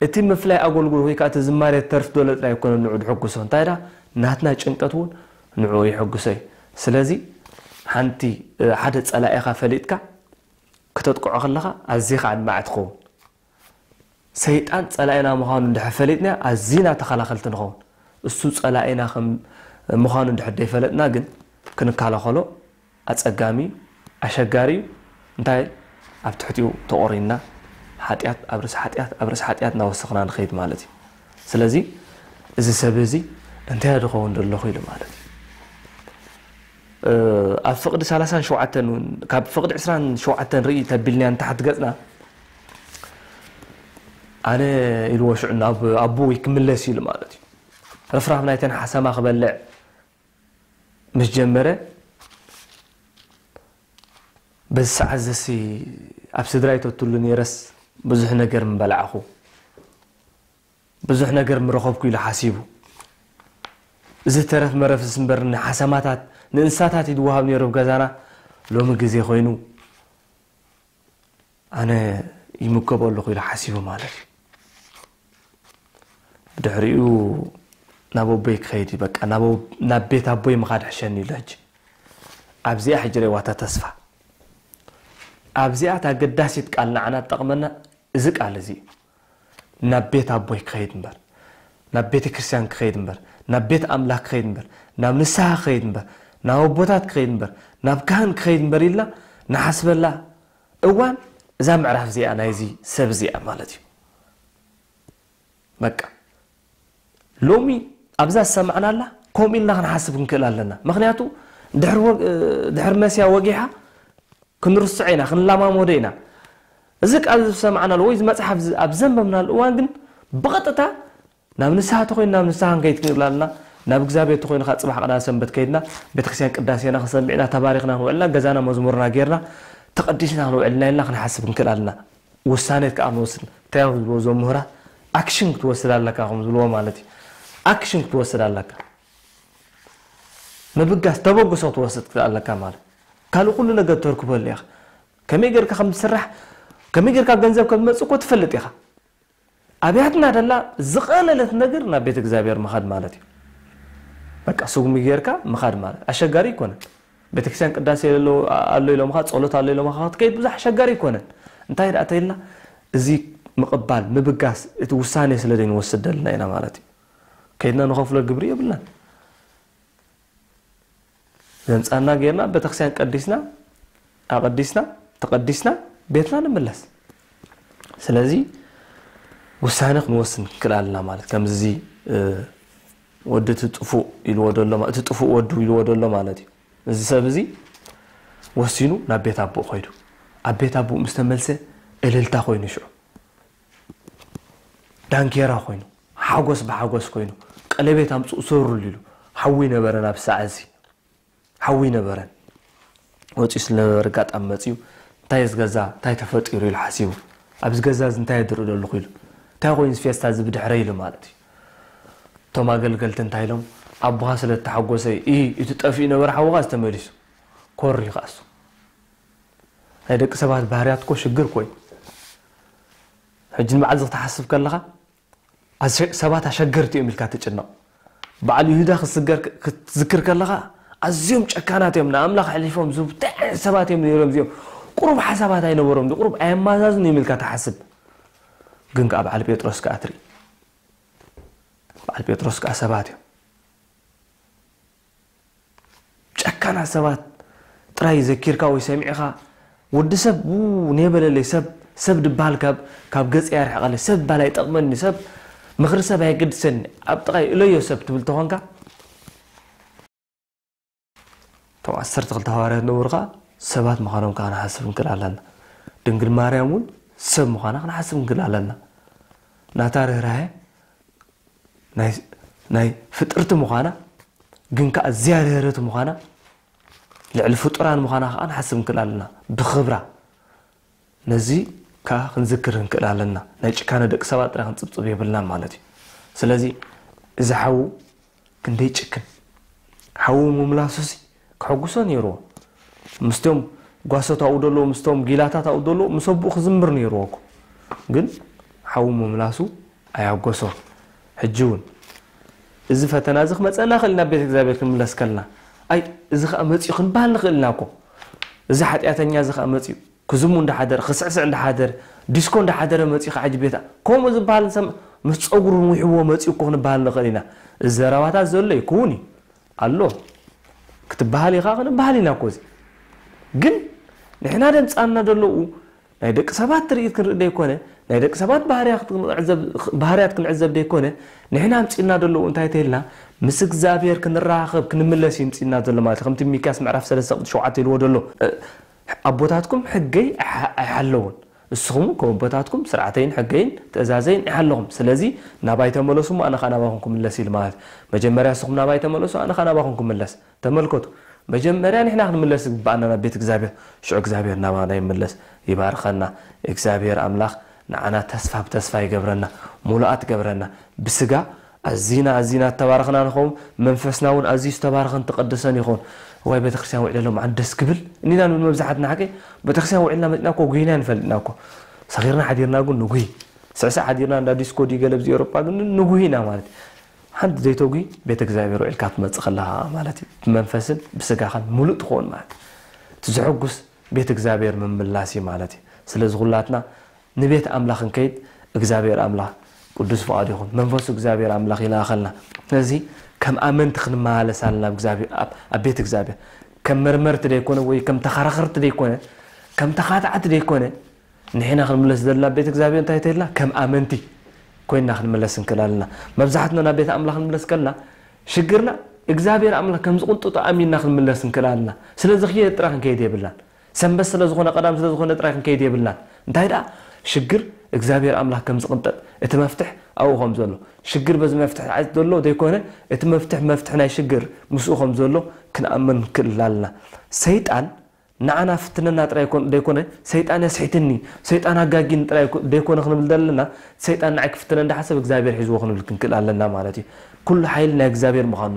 እቲ ምፍላይ ኣገልግሎት ወይ ከዓ እቲ ዝማሬ ተርፍ ዶለ ጥራይ ኣይኮነን ንዑ ድሕጉሶ። እንታይ ደኣ ናትና ጭንቀት እውን ንዑ ይሕጉሶ እዩ። ስለዚ ሓንቲ፣ እ፣ ሓደ ጸላኢኻ ፈሊጥካ ክተጥቅዖ ከለኻ ኣዚኻ ኣድማዒ ትኸውን። ሰይጣን ጸላኢና ምዃኑ እንድሕር ፈሊጥና ኣዚና ተኸላኸልቲ ንኸውን። እሱ ጸላኢና ከም ምዃኑ እንድሕር ደይፈለጥና ግን ክንከላኸሎ ኣጸጋሚ፣ ኣሸጋሪ እዩ። እንታይ? ኣብ ትሕቲኡ ተቖሪንና ሓጢኣት ኣብ ርእሲ ሓጢኣት ኣብ ርእሲ ሓጢኣት እናወሰኽና ንኸይድ ማለት እዩ። ስለዚ እዚ ሰብ እዚ እንታይ እየ ድኸውን ዘለኹ ኢሉ ማለት እዩ። እ፣ ኣብ ፍቕዲ ሰላሳን ሸውዓተን እውን፣ ካብ ፍቕዲ ዕስራን ሸውዓተን ርኢ ተቢልናያ ንታሕቲ ገጽና፣ ኣነ ኢልዎ ሽዑ ናብ ኣቦይ ክምለስ ኢሉ ማለት እዩ። ርፍራፍ ናይተን ሓሰማ ክበልዕ ምስ ጀመረ፣ በዚ ሰዓት ዘሲ ኣብ ስድራይ ተትሉ ነይረስ ብዙሕ ነገር ምበላዕኹ፣ ብዙሕ ነገር ምረኸብኩ ኢሉ ሓሲቡ። እዚ ተረፍ መረፍስ እምበር ንሓሰማታት፣ ንእንስሳታት እዩ ዝወሃብ ነይሩ ኣብ ገዛና። ሎሚ ግዜ ኮይኑ ኣነ ይምገቦ ኣለኹ ኢሉ ሓሲቡ ማለት እዩ። ብድሕሪኡ ናብ ኣቦይ ክኸይድ እዩ፣ በቃ ናብ ኣቦ-፣ ናብ ቤት ኣቦይ ምኻድ ሕሸኒ ኢሉ። ሕጂ ኣብዚኣ ሕጂ ረእዋታ ተስፋ። ኣብዚኣ እታ ኣገዳሲት ቃል ንዓና ትጠቕመና እዚ ቃል እዚ እዩ። ናብ ቤት ኣቦይ ክኸይድ እምበር፣ ናብ ቤተ ክርስቲያን ክኸይድ እምበር፣ ናብ ቤት ኣምላኽ ክኸይድ እምበር፣ ናብ ንስሓ ክኸይድ እምበር፣ ናብ ኣቦታት ክኸይድ እምበር፣ ናብ ካህን ክኸይድ እምበር ኢልና ንሓስበላ እዋን እዛ ምዕራፍ እዚኣ ናይዚ ሰብ እዚኣ ማለት እዩ። በቃ ሎሚ ኣብዛ ዝሰማዕናላ ከምኡ ኢልና ክንሓስብ ክንክእል ኣለና። ምኽንያቱ ድሕሪ ወግ-፣ ድሕሪ መስያ ወጊሓ ክንርስዖ ኢና፣ ክንለማመዶ ኢና። እዚ ቃል ዝሰማዕናሉ ወይ እዚ መጽሓፍ እዚ ኣብ ዘንበብናሉ እዋን ግን ብቐጥታ ናብ ንስሓ ተኾይኑ ናብ ንስሓ ክንከይድ ክንብል ኣለና። ናብ እግዚኣብሔር ተኾይኑ ከዓ ጽባሕ ቀዳም ሰንበት ከይድና ቤተክርስትያን ቅዳሴና ክንሰምዕ ኢና፣ ተባሪኽና ክንውዕልና፣ ገዛና መዝሙርና ጌርና ተቐዲስና ክንውዕልና ኢልና ክንሓስብ ክንክእል ኣለና። ውሳኔ ከዓ ንወስድ። እንታይ እዮም ዝብልዎ እዞም ምሁራት? ኣክሽን ክትወስድ ኣለካ ከም ዝብልዎ ማለት እዩ። ኣክሽን ክትወስድ ኣለካ። ምብጋስ፣ ተበግሶ ክትወስድ ክትክእል ኣለካ ማለት። ካልእ ኩሉ ነገር ተርክበሉ ኢኻ። ከመይ ጌርካ ከም ዝስራሕ፣ ከመይ ጌርካ ገንዘብ ከም ዝመጽእ እኮ ትፈልጥ ኢኻ። ኣብያትና ደላ ዝቐለለት ነገር ናብ ቤት እግዚኣብሔር ምኻድ ማለት እዩ። በቃ ስጉሚ ጌርካ ምኻድ ማለት ኣሸጋሪ ኣይኮነን። ቤተክርስትያን ቅዳሴ ኣሎ፣ ኣሎ ኢሎምኻ፣ ጸሎት ኣሎ ኢሎምኻ ክትከይድ ብዙሕ ኣሸጋሪ ኣይኮነን። እንታይ ደኣ ተይልና፣ እዚ ምቕባል፣ ምብጋስ፣ እቲ ውሳኔ ስለ ዘይንወስድ ደልና ኢና ማለት እዩ። ከይድና ንኸፍሎ ግብሪ የብልናን። ዘምጻና ጌርና ቤተክርስትያን ቀዲስና፣ ኣቐዲስና፣ ተቐዲስና፣ ቤትና ንምለስ። ስለዚ ውሳኔ ክንወስን ክንክእል ኣለና ማለት፣ ከምዚ፣ እ፣ ወዲ እቲ ጥፉእ ኢልዎ ዘሎ ማ-፣ እቲ ጥፉእ ወዱ ኢልዎ ዘሎ ማለት እዩ። እዚ ሰብ እዚ ወሲኑ ናብ ቤት ኣቦኡ ኸይዱ። ኣብ ቤት ኣቦኡ ምስ ተመልሰ እልልታ ኾይኑ ሽዑ። ዳንኬራ ኮይኑ፣ ሓጎስ ብሓጎስ ኮይኑ፣ ቀለቤት ኣምፅኡ ሰሩሉ ኢሉ። ሓዊ ነበረን ኣብ ሰዓት እዚ ሓዊ ነበረን። ወፂኡ ስለነበረ ኣጋጣሚ መፂኡ እንታይ እዚ ገዛ እንታይ ተፈጢሩ ኢሉ ሓሲቡ። ኣብዚ ገዛ እዚ እንታይ የድርኢ ዘለኹ ኢሉ። እንታይ ኮይኑ እዚ ፌስታ እዚ ብድሕረ ኢሉ ማለት እዩ። እቶም ኣገልገልቲ እንታይ ኢሎም ኣቦኻ ስለ ተሓጎሰ እዩ እቲ ጠፊኡ ነበረ ሓውኻ ዝተመሊሱ ኮር ይኸኣሱ ናይ ደቂ ሰባት ባህርያት እኮ ሽግር ኮይ ሕጂ ንበዓል እዚ ክትሓስብ ከለኻ ሰባት ኣሸገርቲ እዮም ኢልካ ትጭነቕ። በዓል ይሁዳ ክትዝክር ከለኻ ኣዝዮም ጨካናት እዮም፣ ንኣምላኽ ኣሕሊፎም ዝህቡ እንታይ ዓይነት ሰባት እዮም ነይሮም እዚኦም? ቁሩብ ሓሳባት ኣይነበሮም፣ ቁሩብ ኣየማዛዝን እዮም ኢልካ ትሓስብ። ግን ከዓ በዓል ጴጥሮስ ከዓ ትርኢ፣ በዓል ጴጥሮስ ከዓ ሰባት እዮም ጨካናት ሰባት ጥራይ ዘኪርካ ወይ ሰሚዕኻ ወዲ ሰብ ው ኔበለለይ ሰብ ሰብ ድበሃል ካብ ካብ ገጸይ ኣርሕቐለይ ሰብ ባል ኣይጠቕመኒ ሰብ ምኽሪ ሰብ ኣየገድሰኒ ኣብ ጥቓይ እለዮ ሰብ ትብል ተኾንካ እቶም ዓሰርተ ክልተ ሃዋርያት ነበሩ ኸዓ ሰባት ምዃኖም ከዓ ንሓስብ ንክእል ኣለና ድንግል ማርያም እውን ሰብ ምዃና ክንሓስብ ንክእል ኣለና ናታ ርህራሄ ናይ ፍጥርቲ ምዃና ግን ከዓ እዚኣ ርህርህቲ ምዃና ልዕሊ ፍጡራን ምዃና ከዓ ንሓስብ ንክእል ኣለና ብክብራ ነዚ ከዓ ክንዝክር ንክእል ኣለና ናይ ጭካነ ደቂ ሰባት ጥራይ ክንፅብፅብ የብልናን ማለት እዩ ስለዚ እዚ ሓዉ ክንደይ ጭክን ሓዉ ምምላሱሲ ከሐጉሶ ነይርዎ። ምስቶም ጓሶት ኣብኡ ዘለዉ፣ ምስቶም ጊላታት ኣብኡ ዘለዉ፣ ምስ ኣቦኡ ክዝምር ነይርዎ እኮ። ግን ሓዉ ምምላሱ ኣየሐጎሶን። ሕጂ እውን እዚ ፈተና እዚ ክመፀና ይኽእል ኢና፣ ቤተ እግዚኣብሔር ክንምለስ ከለና። ኣይ እዚ ኸዓ መፂኡ ክንበሃል ንኽእል ኢና እኮ። እዚ ሓጢኣተኛ እዚ ኸዓ መፂኡ ክዝሙ እንዳሓደረ፣ ክስዕስዕ እንዳሓደረ፣ ዲስኮ እንዳሓደረ መፂኡ ኸዓ ሕጂ ቤት ከምኡ ዝበሃል ሰብ ምስ ፀጉሩ ንዊሕዎ መፂኡ እኮ ክንበሃል ንኽእል ኢና። እዚ ዘረባታት ዘሎ ይክውን እዩ። ኣሎ ክትበሃል ኢኻ ክንበሃል ኢና እኮ እዚ ግን ንሕና ደምፃና ዘለዉ ናይ ደቂ ሰባት ትርኢት ክንርኢ ደይኮነ ናይ ደቂ ሰባት ባህርያት ክንዕዘብ ደይኮነ ንሕና ኣምፂና ዘለዉ እንታይ ተይልና ምስ እግዚኣብሔር ክንራኸብ ክንምለስ ይምፅና ዘሎ ማለት ከምቲ ሚክያስ ምዕራፍ ሰለስተ ቁጥሪ ሸውዓተ ኢልዎ ዘሎ ኣቦታትኩም ሕገይ ኣይሓለውን እስኹም ከወቦታትኩም ስርዓተይን ሕገይን ትእዛዘይን ኢሓለኹም። ስለዚ ናባይ ተመለሱ እሞ ኣነ ኸኣ ናባኹም ክምለስ ኢሉ ማለት እዩ። መጀመርያ እስኹም ናባይ ተመለሱ ኣነ ኸኣ ናባኹም ክምለስ። ተመልከቱ፣ መጀመርያ ንሕና ክንምለስ ዝግብኣና ናብ ቤት እግዚኣብሔር፣ ሽዑ እግዚኣብሔር ናባና ይምለስ። ይባርኸና እግዚኣብሔር ኣምላኽ፣ ንዓና ተስፋ ብተስፋ ይገብረና፣ ሙሉኣት ይገብረና። ብስጋ ኣዚና ኣዚና ዝተባረኽና ንኸውን፣ መንፈስና እውን ኣዝዩ ዝተባረኸን ተቐደሰን ይኸውን። እዋይ ቤተክርስትያን ውዒለ ሎምዓንቲ ደስ ክብል እኒና ንብል መብዛሕትና ሓቀይ። ቤተክርስትያን ውዒልና መፂና እኮ ጉሂና ንፈልጥና እኮ። ሰኺርና ሓዲርና ግን ንጉሂ። ስዕስዕ ሓዲርና እንዳ ዲስኮ ድዩ ገለ ብዚ ኤውሮጳ ግን ንጉሂ ኢና ማለት እዩ። ሓንቲ ዘይተጉሂ ቤተ እግዚኣብሔር ውዒልካ ትመፅእ ከለኻ ማለት እዩ። ብመንፈስን ብስጋኻን ሙሉእ ትኸውን ማለት እዩ። እቲ ዘሐጉስ ቤተ እግዚኣብሔር ምምላስ እዩ ማለት እዩ። ስለዚ ኩላትና ንቤት ኣምላኽ ክንከይድ እግዚኣብሔር ኣምላኽ ቅዱስ ፍቓዱ ይኹን። መንፈሱ እግዚኣብሔር ኣምላኽ ይልኣኸልና። ስለዚ ከም ኣመንቲ ክንመላለስ ኣለና ኣብ እግዚኣብሔር ኣብ ኣብ ቤት እግዚኣብሔር። ከም መርመርቲ ደይኮነ ወይ ከም ተኸራኸርቲ ደይኮነ ከም ተኻታዕቲ ደይኮነ ንሕና ክንምለስ ዘለና ኣብ ቤት እግዚኣብሔር እንታይ ተይልና ከም ኣመንቲ ኮይንና ክንምለስ እንክእል ኣለና። መብዛሕትና ናብ ቤት ኣምላኽ ክንምለስ ከልና ሽግርና እግዚኣብሔር ኣምላኽ ከም ዝቕንጥጦ ኣሚንና ክንምለስ እንክእል ኣለና። ስለዚ ክየ ጥራይ ክንከይድ የብልናን። ሰንበት ስለ ዝኾነ ቀዳም ስለ ዝኾነ ጥራይ ክንከይድ የብልናን እንታይ ደኣ ሽግር እግዚኣብሔር ኣምላኽ ከም ዝቕንጠጥ እቲ መፍትሕ ኣብኡ ከም ዘሎ ሽግር በዚ መፍትሕ ዓት ዘሎ ዘይኮነ እቲ መፍትሕ መፍትሕ ናይ ሽግር ምስኡ ከም ዘሎ ክንኣምን ክእል ኣለና ሰይጣን ንዓና ፍትነና ጥራይ ዘይኮነ ሰይጣን የስሒትኒ ሰይጣን ኣጋጊኒ ጥራይ ዘይኮነ ክንብል ዘለና ሰይጣን ንዓይ ክፍትነ እንዳሓሰብ እግዚኣብሔር ሒዝዎ ክንብል ክንክእል ኣለና ማለት እዩ ኩሉ ሓይሊ ናይ እግዚኣብሔር ምዃኑ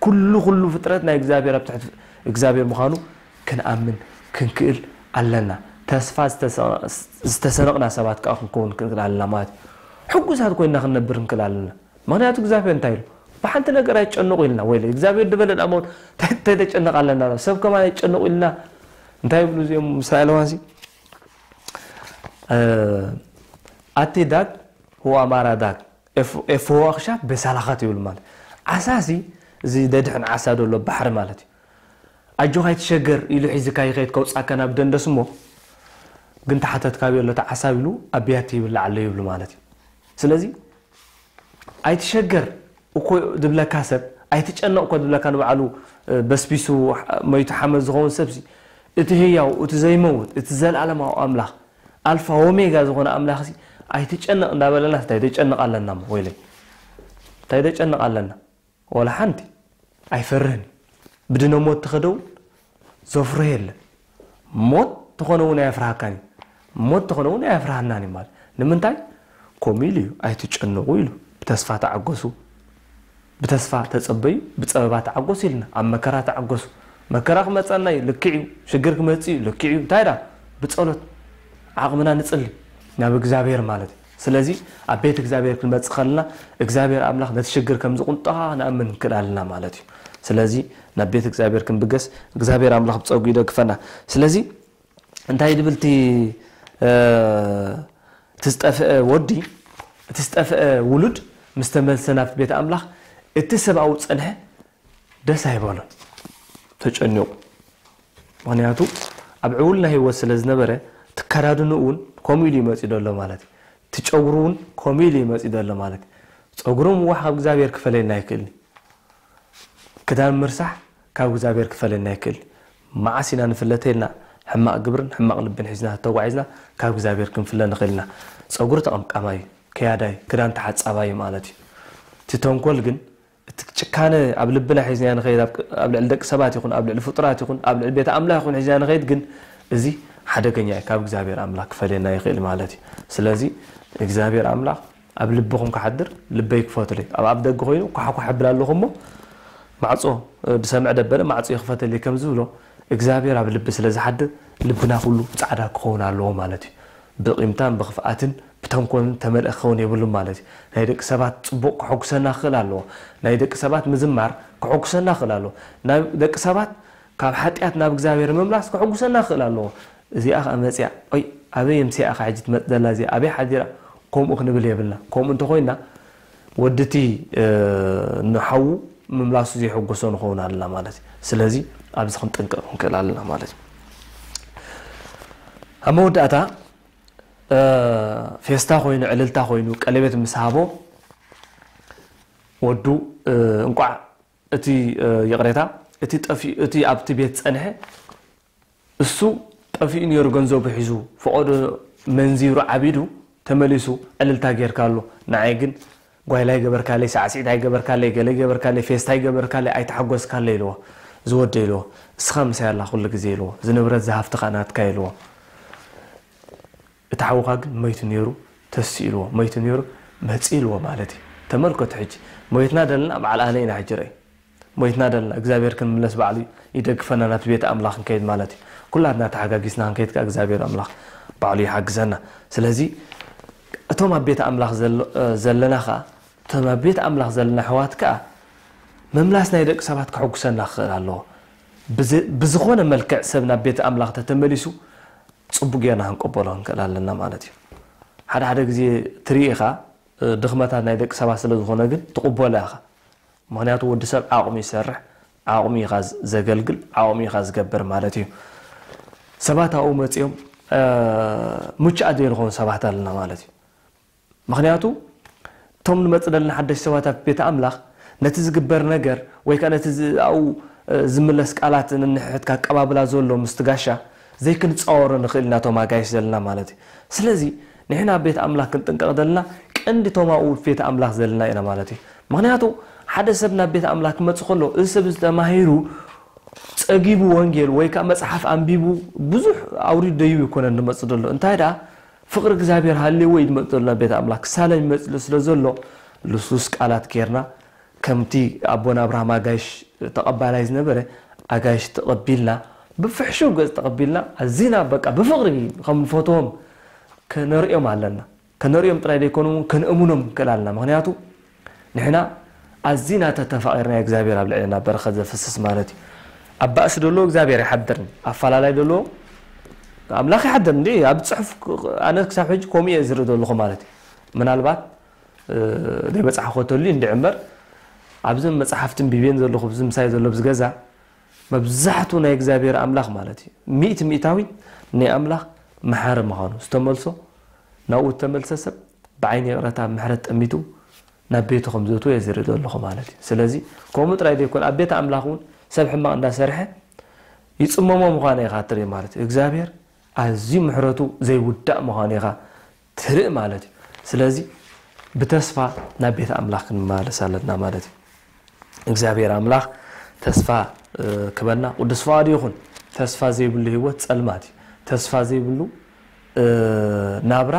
ኩሉ ኩሉ ፍጥረት ናይ እግዚኣብሔር ኣብ ትሕቲ እግዚኣብሔር ምዃኑ ክንኣምን ክንክእል ኣለና። ተስፋ ዝተሰነቕና ሰባት ከዓ ክንከውን ክንክእል ኣለና ማለት እዩ። ሕጉሳት ኮይንና ክንነብር ክንክእል ኣለና። ምኽንያቱ እግዚኣብሔር እንታይ ኢሉ? ብሓንቲ ነገር ኣይጨነቑ ኢልና። ወይለ እግዚኣብሔር ድበለ ደኣ እሞ እንታይ እንታይ ተጨነቕ ኣለና? ሰብ ከማን ኣይጨነቑ ኢልና። እንታይ ይብሉ እዚኦም እስራኤላውያን ሲ? ኣቲ ዳግ ሁዋ ማራ ዳግ ኤፍ- ኤፍዎ ኣኽሻብ በሳላኻት ይብሉ ማለት ዓሳ ሲ እዚ ደድሕን ዓሳ ደሎ ባሕሪ ማለት እዩ ኣጆኻ ኣይትሸገር ኢሉ ሒዝካ ይኸይድ ከውፃካ ናብ ደንደስ እሞ ግን ተሓተትካብዮ ኣሎ ተዓሳብ ኢሉ ኣብ ብያቲ ይብላዕ ኣሎ ይብሉ ማለት እዩ ስለዚ ኣይትሸገር እኮ ዝብለካ ሰብ ኣይትጨነቕ እኮ ዝብለካ ንባዕሉ በስቢሱ መይቱ ሓመድ ዝኸውን ሰብሲ እቲ ህያው እቲ ዘይመውት እቲ ዘለኣለማዊ ኣምላኽ ኣልፋ ኦሜጋ ዝኾነ ኣምላኽሲ ኣይትጨነቕ እንዳበለና እንታይ ደጨነቕ ኣለና እሞ ወይለይ እንታይ ደጨነቕ ኣለና ወላ ሓንቲ ኣይፈርህን እዩ። ብድነ ሞት ተኸደው ዘፍርህ የለን። ሞት ተኾነ እውን ኣየፍርሃካን እዩ። ሞት ተኾነ እውን ኣየፍርሃናን እዩ ማለት። ንምንታይ? ከምኡ ኢሉ እዩ፣ "ኣይትጨነቑ" ኢሉ። "ብተስፋ ተዓገሱ፣ ብተስፋ ተጸበዩ፣ ብጸበባ ተዓገሱ" ኢልና። ኣብ መከራ ተዓገሱ። መከራ ክመጸና እዩ፣ ልክዕ እዩ። ሽግር ክመጽእ እዩ፣ ልክዕ እዩ። እንታይ ደኣ? ብጸሎት ዓቕምና ንጽሊ ናብ እግዚኣብሔር ማለት እዩ። ስለዚ ኣብ ቤት እግዚኣብሔር ክንመጽእ ከለና እግዚኣብሔር ኣምላኽ ነቲ ሽግር ከም ዝቕንጦ ክንኣምን ክንክእል ኣለና ማለት እዩ። ስለዚ ናብ ቤት እግዚኣብሔር ክንብገስ እግዚኣብሔር ኣምላኽ ብጸጉ ይደግፈና። ስለዚ እንታይ ድብል እቲ፣ እ፣ እቲ ዝጠፍአ ወዲ፣ እቲ ዝጠፍአ ውሉድ ምስ ተመልሰ ናብቲ ቤት ኣምላኽ፣ እቲ ሰብኣዊ ጸንሐ ደስ ኣይበሎን፣ ተጨኒቑ። ምኽንያቱ ኣብ ዕውልና ህይወት ስለ ዝነበረ፣ ትከዳድኑ እውን ከምኡ ኢሉ ይመጽእ ዘሎ ማለት እዩ። ትጨጉሩ እውን ከምኡ ኢሉ ይመጽእ ዘሎ ማለት እዩ። ጸጉሩ ምዋሕ ካብ እግዚኣብሔር ክፈለየና ኣይክእልን እዩ። ክዳን ምርሳሕ ካብ እግዚኣብሔር ክፈለየና ኣይክእልን እዩ። መዓስ ኢና ንፍለተ ኢልና ሕማቕ ግብርን ሕማቕ ልብን ሒዝና ተተጓዒዝና ካብ እግዚኣብሔር ክንፍለ ንኽእል ኢና። ጸጉሪ ተቐምቃማይ እዩ፣ ከያዳይ፣ ክዳን ተሓጻባይ ማለት እዩ። እቲ ተንኮል ግን፣ እቲ ጭካነ ኣብ ልብና ሒዝና ንኸይድ፣ ኣብ፣ ኣብ ልዕሊ ደቂ ሰባት ይኹን፣ ኣብ ልዕሊ ፍጡራት ይኹን፣ ኣብ ልዕሊ ቤተ ኣምላኽ ይኹን ሒዝና ንኸይድ ግን፣ እዚ ሓደገኛ እዩ፣ ካብ እግዚኣብሔር ኣምላኽ ክፈልየና ይኽእል ማለት እዩ። ስለዚ እግዚኣብሔር ኣምላኽ ኣብ ልብኹም ክሓድር ልበይ ክፈቱለይ። ኣብ ኣፍ ደገ ኮይኑ ኳሕኳሕ እብል ኣለኹ እሞ፣ ማዕጾ፣ እ፣ ዝሰምዕ ደበለ ማዕጾ ይኽፈተለይ ከም ዝብሎ፣ እግዚኣብሔር ኣብ ልቢ ስለ ዝሓድር፣ ልብና ኩሉ ጻዕዳ ክኸውን ኣለዎ ማለት እዩ። ብቂምታን ብኽፍኣትን ብተንኮልን ተመልአ ክኸውን የብሉን ማለት እዩ። ናይ ደቂ ሰባት ጽቡቕ ከሐጉሰና ክኽእል ኣለዎ። ናይ ደቂ ሰባት ምዝማር ከሐጉሰና ክኽእል ኣለዎ። ናይ ደቂ ሰባት ካብ ሓጢኣት ናብ እግዚኣብሔር ምምላስ ከሐጉሰና ክኽእል ኣለዎ። እዚኣ ኸኣ መጺኣ፣ "ኦይ፣ ኣበይ ኣምሲኣ ኸ ሕጂ ትመጽእ ዘላ እዚኣ? ኣበይ ሓዲራ?" ከምኡ ክንብል የብልና። ከምኡ እንተኾይና፣ ወዲ እቲ፣ እ፣ ንሓዉ ምምላሱ ዘይሐጎሶ ንኸውን ኣለና ማለት እዩ። ስለዚ ኣብዚ ክንጥንቀቕ ክንክእል ኣለና ማለት እዩ። ኣብ መወዳእታ፣ እ፣ ፌስታ ኮይኑ፣ ዕልልታ ኮይኑ፣ ቀለቤት ምስ ሃቦ፣ ወዱ፣ እ፣ እንቋዕ እቲ፣ እ፣ ይቕሬታ፣ እቲ ጠፊኡ፣ እቲ ኣብቲ ቤት ጸንሐ፣ እሱ ጠፊኡ ነይሩ፣ ገንዘቡ ሒዙ፣ ፈቐዶ መንዚሩ ዓቢዱ፣ ተመሊሱ ዕልልታ ጌርካሉ። ንዓይ ግን ጓይላ ኣይገበርካለይ፣ ሳዕስዒት ኣይገበርካለይ፣ ገለ ኣይገበርካለይ፣ ፌስታ ኣይገበርካለይ፣ ኣይተሓጎስካለይ ኢልዎ። ዝወደ ኢልዎ፣ እስኻ ምሳይ ኣላ ኩሉ ግዜ ኢልዎ። እዚ ንብረት፣ እዚ ሃፍቲ ኸኣ ናትካ ኢልዎ። እቲ ሓውኻ ግን መይቱ ነይሩ፣ ተሲኡ ኢልዎ፣ መይቱ ነይሩ፣ መጺኡ ኢልዎ ማለት እዩ። ተመልከቱ ሕጂ፣ ሞይትና ደለና በዓል ኣነ ኢና ሕጂ ርኣይ። ሞይትና ደለና፣ እግዚኣብሔር ክንምለስ ባዕሉ ይደግፈና፣ ናብቲ ቤት ኣምላኽ ክንከይድ ማለት እዩ። ኩላትና ተሓጋጊዝና ክንከይድ ከኣ እግዚኣብሔር ኣምላኽ ባዕሉ ይሓግዘና። ስለዚ እቶም ኣብ ቤት ኣምላኽ ዘሎ-፣ እ፣ ዘለና ከኣ፣ እቶም ኣብ ቤት ኣምላኽ ዘለና ኣሕዋት ከኣ ምምላስ ናይ ደቂ ሰባት ከሐጉሰና ክኽእል ኣለዎ። ብዝ-፣ ብዝኾነ መልክዕ ሰብ ናብ ቤት ኣምላኽ ተተመሊሱ ጽቡቕ ጌርና ክንቀበሎ ክንክእል ኣለና ማለት እዩ። ሓደ ሓደ ግዜ ትርኢ ኢኻ፣ እ፣ ድኽመታት ናይ ደቂ ሰባት ስለ ዝኾነ ግን ትቕበሎ ኢኻ። ምኽንያቱ ወዲ ሰብ ዓቕሙ ይሰርሕ፣ ዓቕሙ ኢኻ ዝ-፣ ዘገልግል፣ ዓቕሙ ኢኻ ዝገብር ማለት እዩ። ሰባት ኣብኡ መጺኦም፣ እ፣ ምቹኣት ዘይንኸውን ሰባት ኣለና ማለት እዩ። ምኽንያቱ እቶም ንመጽእ ዘለና ሓደሽቲ ሰባት ኣብ ቤት ኣምላኽ ነቲ ዝግበር ነገር ወይ ከኣ ነቲ ዝ-፣ ኣብኡ፣ እ፣ ዝምለስ ቃላት ንንሕሕት ኣቀባብላ ዘሎ ምስቲ ጋሻ ዘይክንጻወሮ ንኽእል ኢና፣ እቶም ኣጋይሽ ዘለና ማለት እዩ። ስለዚ ንሕና ኣብ ቤት ኣምላኽ ክንጥንቀቕ ዘለና ቀንዲ እቶም ኣብኡ ቤት ኣምላኽ ዘለና ኢና ማለት እዩ። ምኽንያቱ ሓደ ሰብ ናብ ቤት ኣምላኽ ክመጽእ ከሎ፣ እዚ ሰብ እዚ ተማሂሩ ጸጊቡ ወንጌል ወይ ከኣ መጽሓፍ ኣንቢቡ ብዙሕ ኣውሪዱ ደይቡ ኣይኮነን ዝመጽእ ዘሎ። እንታይ ደኣ ፍቕሪ እግዚኣብሔር ሃልይዎ እዩ ዝመጽእ ዘሎ ናብ ቤት ኣምላኽ። ክሳለም ይመጽእ ስለ ዘሎ ልስሉስ ቃላት ጌርና፣ ከምቲ ኣቦና ኣብርሃም ኣጋይሽ ተቐባላይ ዝነበረ፣ ኣጋይሽ ተቐቢልና፣ ብፍሕሹው ገጽ ተቐቢልና፣ ኣዚና በቃ ብፍቕሪ ከም ንፈትዎም ከነርእዮም ኣለና። ከነርእዮም ጥራይ ዘይኮኑ፣ ከነእምኖም ክንክእል ኣለና። ምኽንያቱ ንሕና ኣዚና ተተፋቒርና፣ እግዚኣብሔር ኣብ ልዕሌና በረኸት ዘፍስስ ማለት እዩ። ኣብ ባእሲ ደሎ እግዚኣብሔር ኣይሓድርን፣ ኣፈላላይ ደሎ ኣምላኽ ይሓድር። እንዲ ኣብ ጽሑፍ ኣነ ክሳብ ሕጂ ከምኡ እየ ዝርኢ ዘለኹ ማለት እዩ። ምናልባት፣ እ፣ ዘይበጻሕኮ ተልዩ እንድዒ እምበር፣ ኣብዘን መጽሓፍቲ ኣንቢበን ዘለኹ፣ ኣብዚ ምሳይ ዘሎ ኣብዚ ገዛ፣ መብዛሕቱ ናይ እግዚኣብሔር ኣምላኽ ማለት እዩ፣ ሚእቲ ሚእታዊት ናይ ኣምላኽ መሓሪ ምዃኑ፣ ዝተመልሶ፣ ናብኡ እተመልሰ ሰብ ብዓይኒ ይቕረታ ምሕረት ጠሚቱ ናብ ቤቱ ከም ዘእትዎ እየ ዝርኢ ዘለኹ ማለት እዩ። ስለዚ ከምኡ ጥራይ ዘይኮነ፣ ኣብ ቤት ኣምላኽ እውን ሰብ ሕማቕ እንዳሰርሐ ይጽመሞ ምዃኑ ኢኻ ትርኢ ማለት እዩ። እግዚኣብሔር ኣዝዩ ምሕረቱ ዘይውዳእ ምዃኑ ኢኻ ትርኢ ማለት እዩ። ስለዚ ብተስፋ ናብ ቤት ኣምላኽ ክንመላለስ ኣለና ማለት እዩ። እግዚኣብሔር ኣምላኽ ተስፋ ክበና ቅዱስ ፍቓዱ ይኹን። ተስፋ ዘይብሉ ህይወት ጸልማት እዩ። ተስፋ ዘይብሉ ናብራ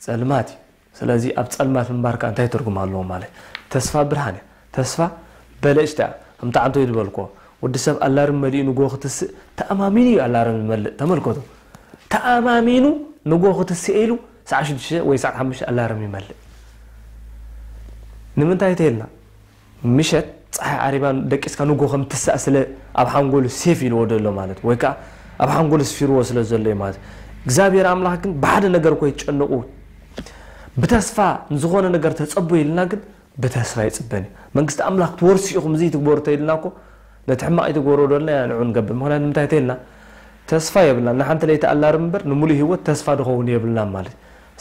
ጸልማት እዩ። ስለዚ ኣብ ጸልማት ምንባር ከኣ እንታይ ትርጉም ኣለዎ ማለት? ተስፋ ብርሃን እያ። ተስፋ በለጭታ እያ። ከምቲ ዓንቶ ዝበልክዎ፣ ወዲ ሰብ ኣላርም መሊኡ ንጎ ክትስእ ተኣማሚኑ እዩ ኣላርም ዝመልእ። ተመልከቱ። ተኣማሚኑ ንጎ ክትስእ ኢሉ ሰዓት ሽዱሽተ ወይ ሰዓት ሓሙሽተ ኣላርም ይመልእ። ንምንታይ ተይልና? ምሸት ጸሓይ ዓሪባ ደቂስካ ንጎ ከም ትሳእ ስለ ኣብ ሓንጎሉ ሴፍ ኢልዎ ዘሎ ማለት ወይ ከኣ ኣብ ሓንጎሉ ስፊርዎ ስለ ዘሎ እዩ ማለት። እግዚኣብሔር ኣምላኽ ግን ብሓደ ነገር እኮ ይጨነቁ። ብተስፋ ንዝኾነ ነገር ተጸቡ ኢልና ግን ብተስፋ ይጽበን እዩ። መንግስቲ ኣምላኽ ትወርሱ ኢኹም እዚ ትግበሩ ተይልና እኮ ነቲ ሕማቕ ይትግበሮ ደልና ንዑ ንገብር። ምኽንያቱ ንምንታይ ተይልና? ተስፋ የብልና። ንሓንቲ ለይቲ ኣላርም እምበር ንምሉእ ህይወት ተስፋ ድኸውን የብልና ማለት።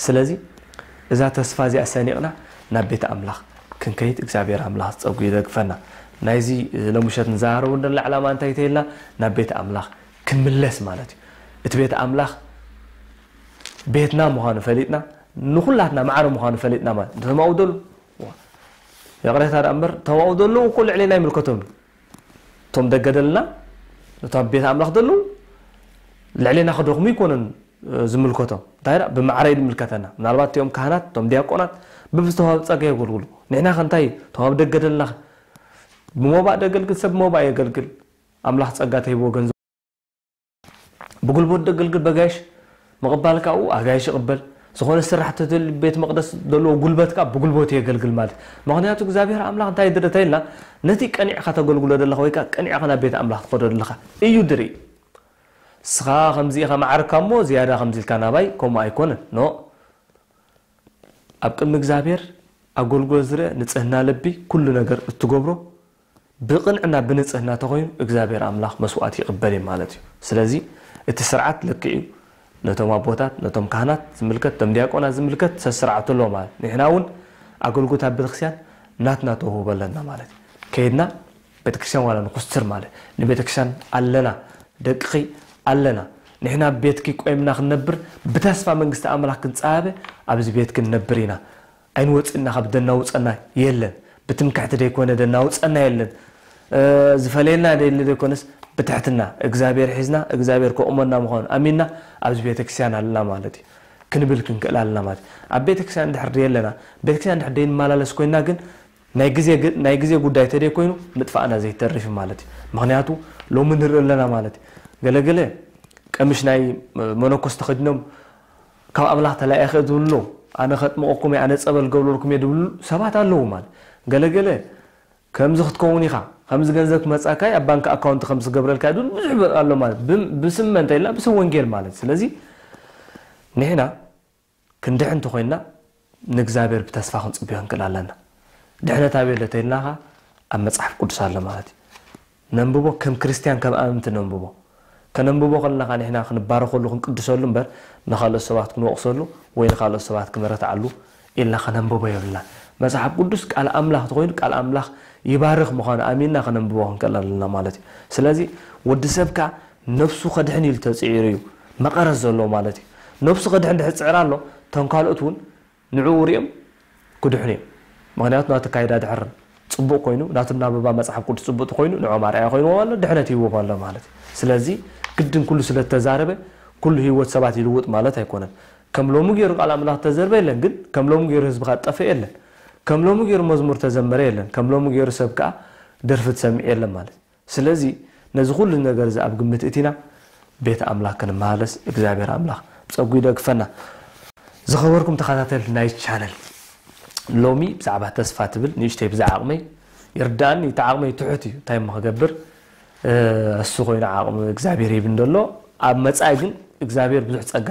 ስለዚ እዛ ተስፋ እዚኣ ሰኒቕና ናብ ቤት ኣምላኽ ክንከይድ እግዚኣብሔር ኣምላኽ ጸጉ ይደግፈና። ናይዚ ሎምሸት ንዛረቡ እንደላ ዕላማ እንታይ ተይልና? ናብ ቤት ኣምላኽ ክንምለስ ማለት እዩ። እቲ ቤት ኣምላኽ ቤትና ምዃኑ ፈሊጥና፣ ንኹላትና ማዕረ ምዃኑ ፈሊጥና ማለት። እንተማኡ ደሉ፣ ይቕሬታ ደኣ እምበር፣ ተማኡ ደሉ እኮ ልዕሌና ይምልከቶም እዩ። እቶም ደገ ደልና፣ እቶም ኣብ ቤት ኣምላኽ ደሉ፣ ልዕሌና ክደኽሙ ይኮነን ዝምልከቶም። እንታይ ደኣ ብማዕረ እዩ ዝምልከተና። ምናልባት እቲኦም ካህናት፣ እቶም ዲያቆናት፣ ብብዝተዋህብ ጸጋ የገልግሉ። ንሕና ከ እንታይ፣ እቶም ኣብ ደገ ደልና፣ ብሞባእ ደገልግል ሰብ ብሞባእ የገልግል። ኣምላኽ ጸጋ ተሂብዎ ገንዘብ ብጉልበት ደገልግል በጋይሽ ምቕባል ካብኡ ኣጋይሽ ይቕበል። ዝኾነ ስራሕ ተተል ቤት መቕደስ ዘለዎ ጉልበት ካብ ብጉልበት የገልግል ማለት። ምኽንያቱ እግዚኣብሔር ኣምላኽ እንታይ ድርተ ኢልና ነቲ ቀኒዕካ ተገልግሎ ዘለኻ ወይ ከዓ ቀኒዕካ ናብ ቤት ኣምላኽ ትኸዶ ዘለኻ እዩ ድርኢ። ስኻ ከምዚ ኢኻ ማዕርካ እሞ ዝያዳ ከምዚ ኢልካ ናባይ ከምኡ ኣይኮነን። ኖ ኣብ ቅድሚ እግዚኣብሔር ኣገልግሎት ዝርአ ንጽህና ልቢ ኩሉ ነገር እትገብሮ ብቕንዕና ብንጽህና ተኾይኑ እግዚኣብሔር ኣምላኽ መስዋዕት ይቕበል እዩ ማለት እዩ። ስለዚ እቲ ስርዓት ልክዕ እዩ። ነቶም ኣቦታት ነቶም ካህናት ዝምልከት ነቶም ዲያቆናት ዝምልከት ሰስርዓቱ ኣሎ ማለት ንሕና እውን ኣገልግሎት ኣብ ቤተክርስትያን ናትና ተውህቦ ኣለና ማለት እዩ። ከይድና ቤተክርስትያን ዋላ ንኩስትር ማለት ንቤተክርስትያን ኣለና ደቅኺ ኣለና ንሕና ቤትኪ ቆይምና ክንነብር ብተስፋ መንግስቲ ኣምላኽ ክንጸባበ ኣብዚ ቤትኪ ንነብር ኢና። ኣይንወፅእና ካብ ደናውፀና የለን። ብትምክሕቲ ደይኮነ ደናውፀና የለን። ዝፈለየና ደይለ ደይኮነስ ብትሕትና እግዚኣብሔር ሒዝና እግዚኣብሔር ከቑመና ምዃኑ ኣሚንና ኣብዚ ቤተክርስትያን ኣለና ማለት እዩ። ክንብል ክንክእል ኣለና ማለት እዩ። ኣብ ቤተክርስትያን እንድሕር ደየለና ቤተክርስትያን እንድሕር ደይንመላለስ ኮይና ግን ናይ ግዜ ጉዳይ ተደይ ኮይኑ ምጥፋእና ዘይተርፍ ማለት እዩ። ምክንያቱ ሎሚ ንርኢ ኣለና ማለት እዩ። ገለገለ ቀምሽ ናይ መነኮስ ተኸዲኖም ካብ ኣምላኽ ተላኢኸ ዝብሉ ኣለዉ። ኣነ ከጥምቐኩም እየ ኣነ ጸበል ገብረልኩም እየ ዝብሉ ሰባት ኣለዉ ማለት። ገለገለ ከምዚ ክትከውን ኢኻ ከምዚ ገንዘብ ክመጻካ ኣብ ባንክ ኣካውንት ከምዚ ክገብረልካ ዝብል ብዙሕ ኣሎ ማለት። ብስም መን ተይልና ብስም ወንጌል ማለት። ስለዚ ንሕና ክንድሕን እንተኾይንና ንእግዚኣብሔር ብተስፋ ክንጽበዮ ክንክእል ኣለና። ድሕነት ኣበይ ኣሎ ተይልናኻ ኣብ መጽሓፍ ቅዱስ ኣሎ ማለት እዩ። ነንብቦ ከም ክርስትያን ከም ኣመንቲ ነንብቦ። ከነንብቦ ከለና ንሕና ክንባረኸሉ ክንቅድሰሉ እምበር ንኻልኦት ሰባት ክንወቕሰሉ ወይ ንኻልኦት ሰባት ክመረትዓሉ ኢልና ከነንብቦ የብልና። መጽሓፍ ቅዱስ ቃል ኣምላኽ ተኾይኑ ቃል ኣምላኽ ይባርኽ ምዃኑ ኣሚንና ከነንብቦ ክንክእል ኣለና ማለት እዩ። ስለዚ ወዲ ሰብ ከኣ ነብሱ ከድሕን ኢሉ ተጽዒሩ እዩ መቐረት ዘለዎ ማለት እዩ። ነብሱ ከድሕን ድሕር ጽዕር ኣሎ እቶም ካልኦት እውን ንዕኡ ሪኦም ክድሕኑ እዮም። ምኽንያቱ ናቱ ካይዳ ድሕር ፅቡቕ ኮይኑ ናቱ እናበባ መፅሓፍ ቅዱስ ፅቡቕ ኮይኑ ንዖም ኣርኣያ ኮይንዎም ኣሎ ድሕነት ይህዎም ኣሎ ማለት እዩ። ስለዚ ግድን ኩሉ ስለተዛረበ ኩሉ ህይወት ሰባት ይልውጥ ማለት ኣይኮነን። ከም ሎሚ ገይሩ ቃል ኣምላኽ ተዘርበ የለን ግን ከም ሎሚ ገይሩ ህዝብኻ ጠፍእ የለን። ከም ሎሚ ገይሩ መዝሙር ተዘመረ የለን ከም ሎሚ ገይሩ ሰብ ከዓ ደርፊ ትሰምዕ የለን ማለት እዩ። ስለዚ ነዚ ኩሉ ነገር እዚ ኣብ ግምት እቲና ቤት ኣምላኽ ክንመላለስ እግዚኣብሔር ኣምላኽ ብጸጉ ይደግፈና። ዝኸበርኩም ተኸታተልቲ ናይ ቻነል ሎሚ ብዛዕባ ተስፋ ትብል ንእሽተይ ብዛ ዓቕመይ ይርዳእኒ እቲ ዓቕመይ ትሑት እዩ እንታይ እሞ ክገብር እሱ ኮይኑ ዓቕሚ እግዚኣብሔር ይብን ዘሎ ኣብ መጻኢ ግን እግዚኣብሔር ብዙሕ ጸጋ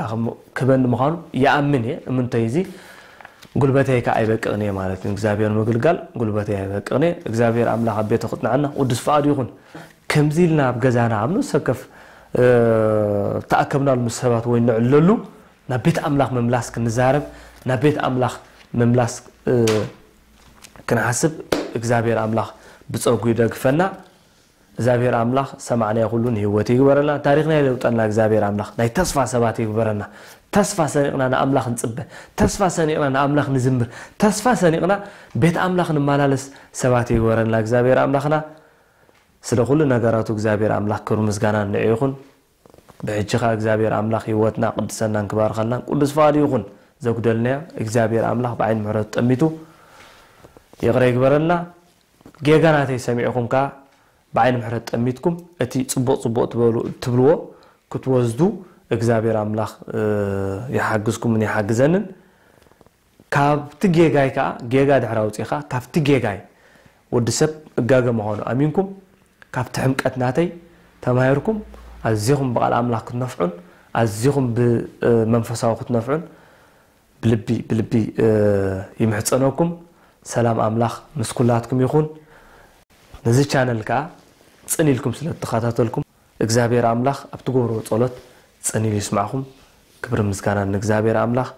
ክበኒ ምዃኑ ይኣምን እየ እምንተይ እዚ ጉልበተይ ከ ኣይበቅቕን እየ ማለት እዩ እግዚኣብሔር ምግልጋል ጉልበተይ ኣይበቅቕን እየ እግዚኣብሔር ኣምላኽ ኣብ ቤቱ ክጥንዓና ቅዱስ ፍቓዱ ይኹን ከምዚ ኢልና ኣብ ገዛና ኣብ ንሰከፍ ተኣከብናሉ ምስ ሰባት ወይ ንዕለሉ ናብ ቤት ኣምላኽ ምምላስ ክንዛረብ ናብ ቤት ኣምላኽ ምምላስ ክንሓስብ እግዚኣብሔር ኣምላኽ ብጸጉ ይደግፈና እግዚኣብሔር ኣምላኽ ሰማዕናዮ ኩሉ ንህይወት ይግበረልና። ታሪኽና ይለውጠልና እግዚኣብሔር ኣምላኽ። ናይ ተስፋ ሰባት ይግበረና። ተስፋ ሰኒቕና ንኣምላኽ ንጽበ። ተስፋ ሰኒቕና ንኣምላኽ ንዝምር። ተስፋ ሰኒቕና ቤት ኣምላኽ ንመላለስ ሰባት ይግበረና እግዚኣብሔር ኣምላኽና። ስለ ኩሉ ነገራቱ እግዚኣብሔር ኣምላኽ ክብሪ ምስጋና ንዕ ይኹን። ብሕጂ ኸኣ እግዚኣብሔር ኣምላኽ ህይወትና ቅድሰናን ክባርኸልናን ቅዱስ ፍቓዱ ይኹን። ዘጉደልናዮ እግዚኣብሔር ኣምላኽ ብዓይኒ ምሕረቱ ጠሚቱ ይቕረ ይግበረልና። ጌጋ ናተይ ሰሚዕኹም ከኣ ብዓይኒ ምሕረት ጠሚትኩም እቲ ጽቡቕ ጽቡቕ ትበሉ ትብልዎ ክትወስዱ እግዚኣብሔር ኣምላኽ ይሓግዝኩምን ይሓግዘንን። ካብቲ ጌጋይ ከኣ ጌጋ ድሕሪ ኣውጺኻ ካብቲ ጌጋይ ወዲ ሰብ እጋገ ምዃኑ ኣሚንኩም ካብቲ ሕምቀት ናተይ ተማሂርኩም ኣዚኹም ብቓል ኣምላኽ ክትነፍዑን ኣዚኹም ብመንፈሳዊ ክትነፍዑን ብልቢ ብልቢ ይምሕጸነኩም። ሰላም ኣምላኽ ምስ ኩላትኩም ይኹን። ነዚ ቻነል ከኣ ጽን ኢልኩም ስለ እትኸታተልኩም እግዚኣብሔር ኣምላኽ ኣብ ትገብርዎ ጸሎት ጽን ኢሉ ይስማዕኹም። ክብሪ ምስጋና ንእግዚኣብሔር ኣምላኽ።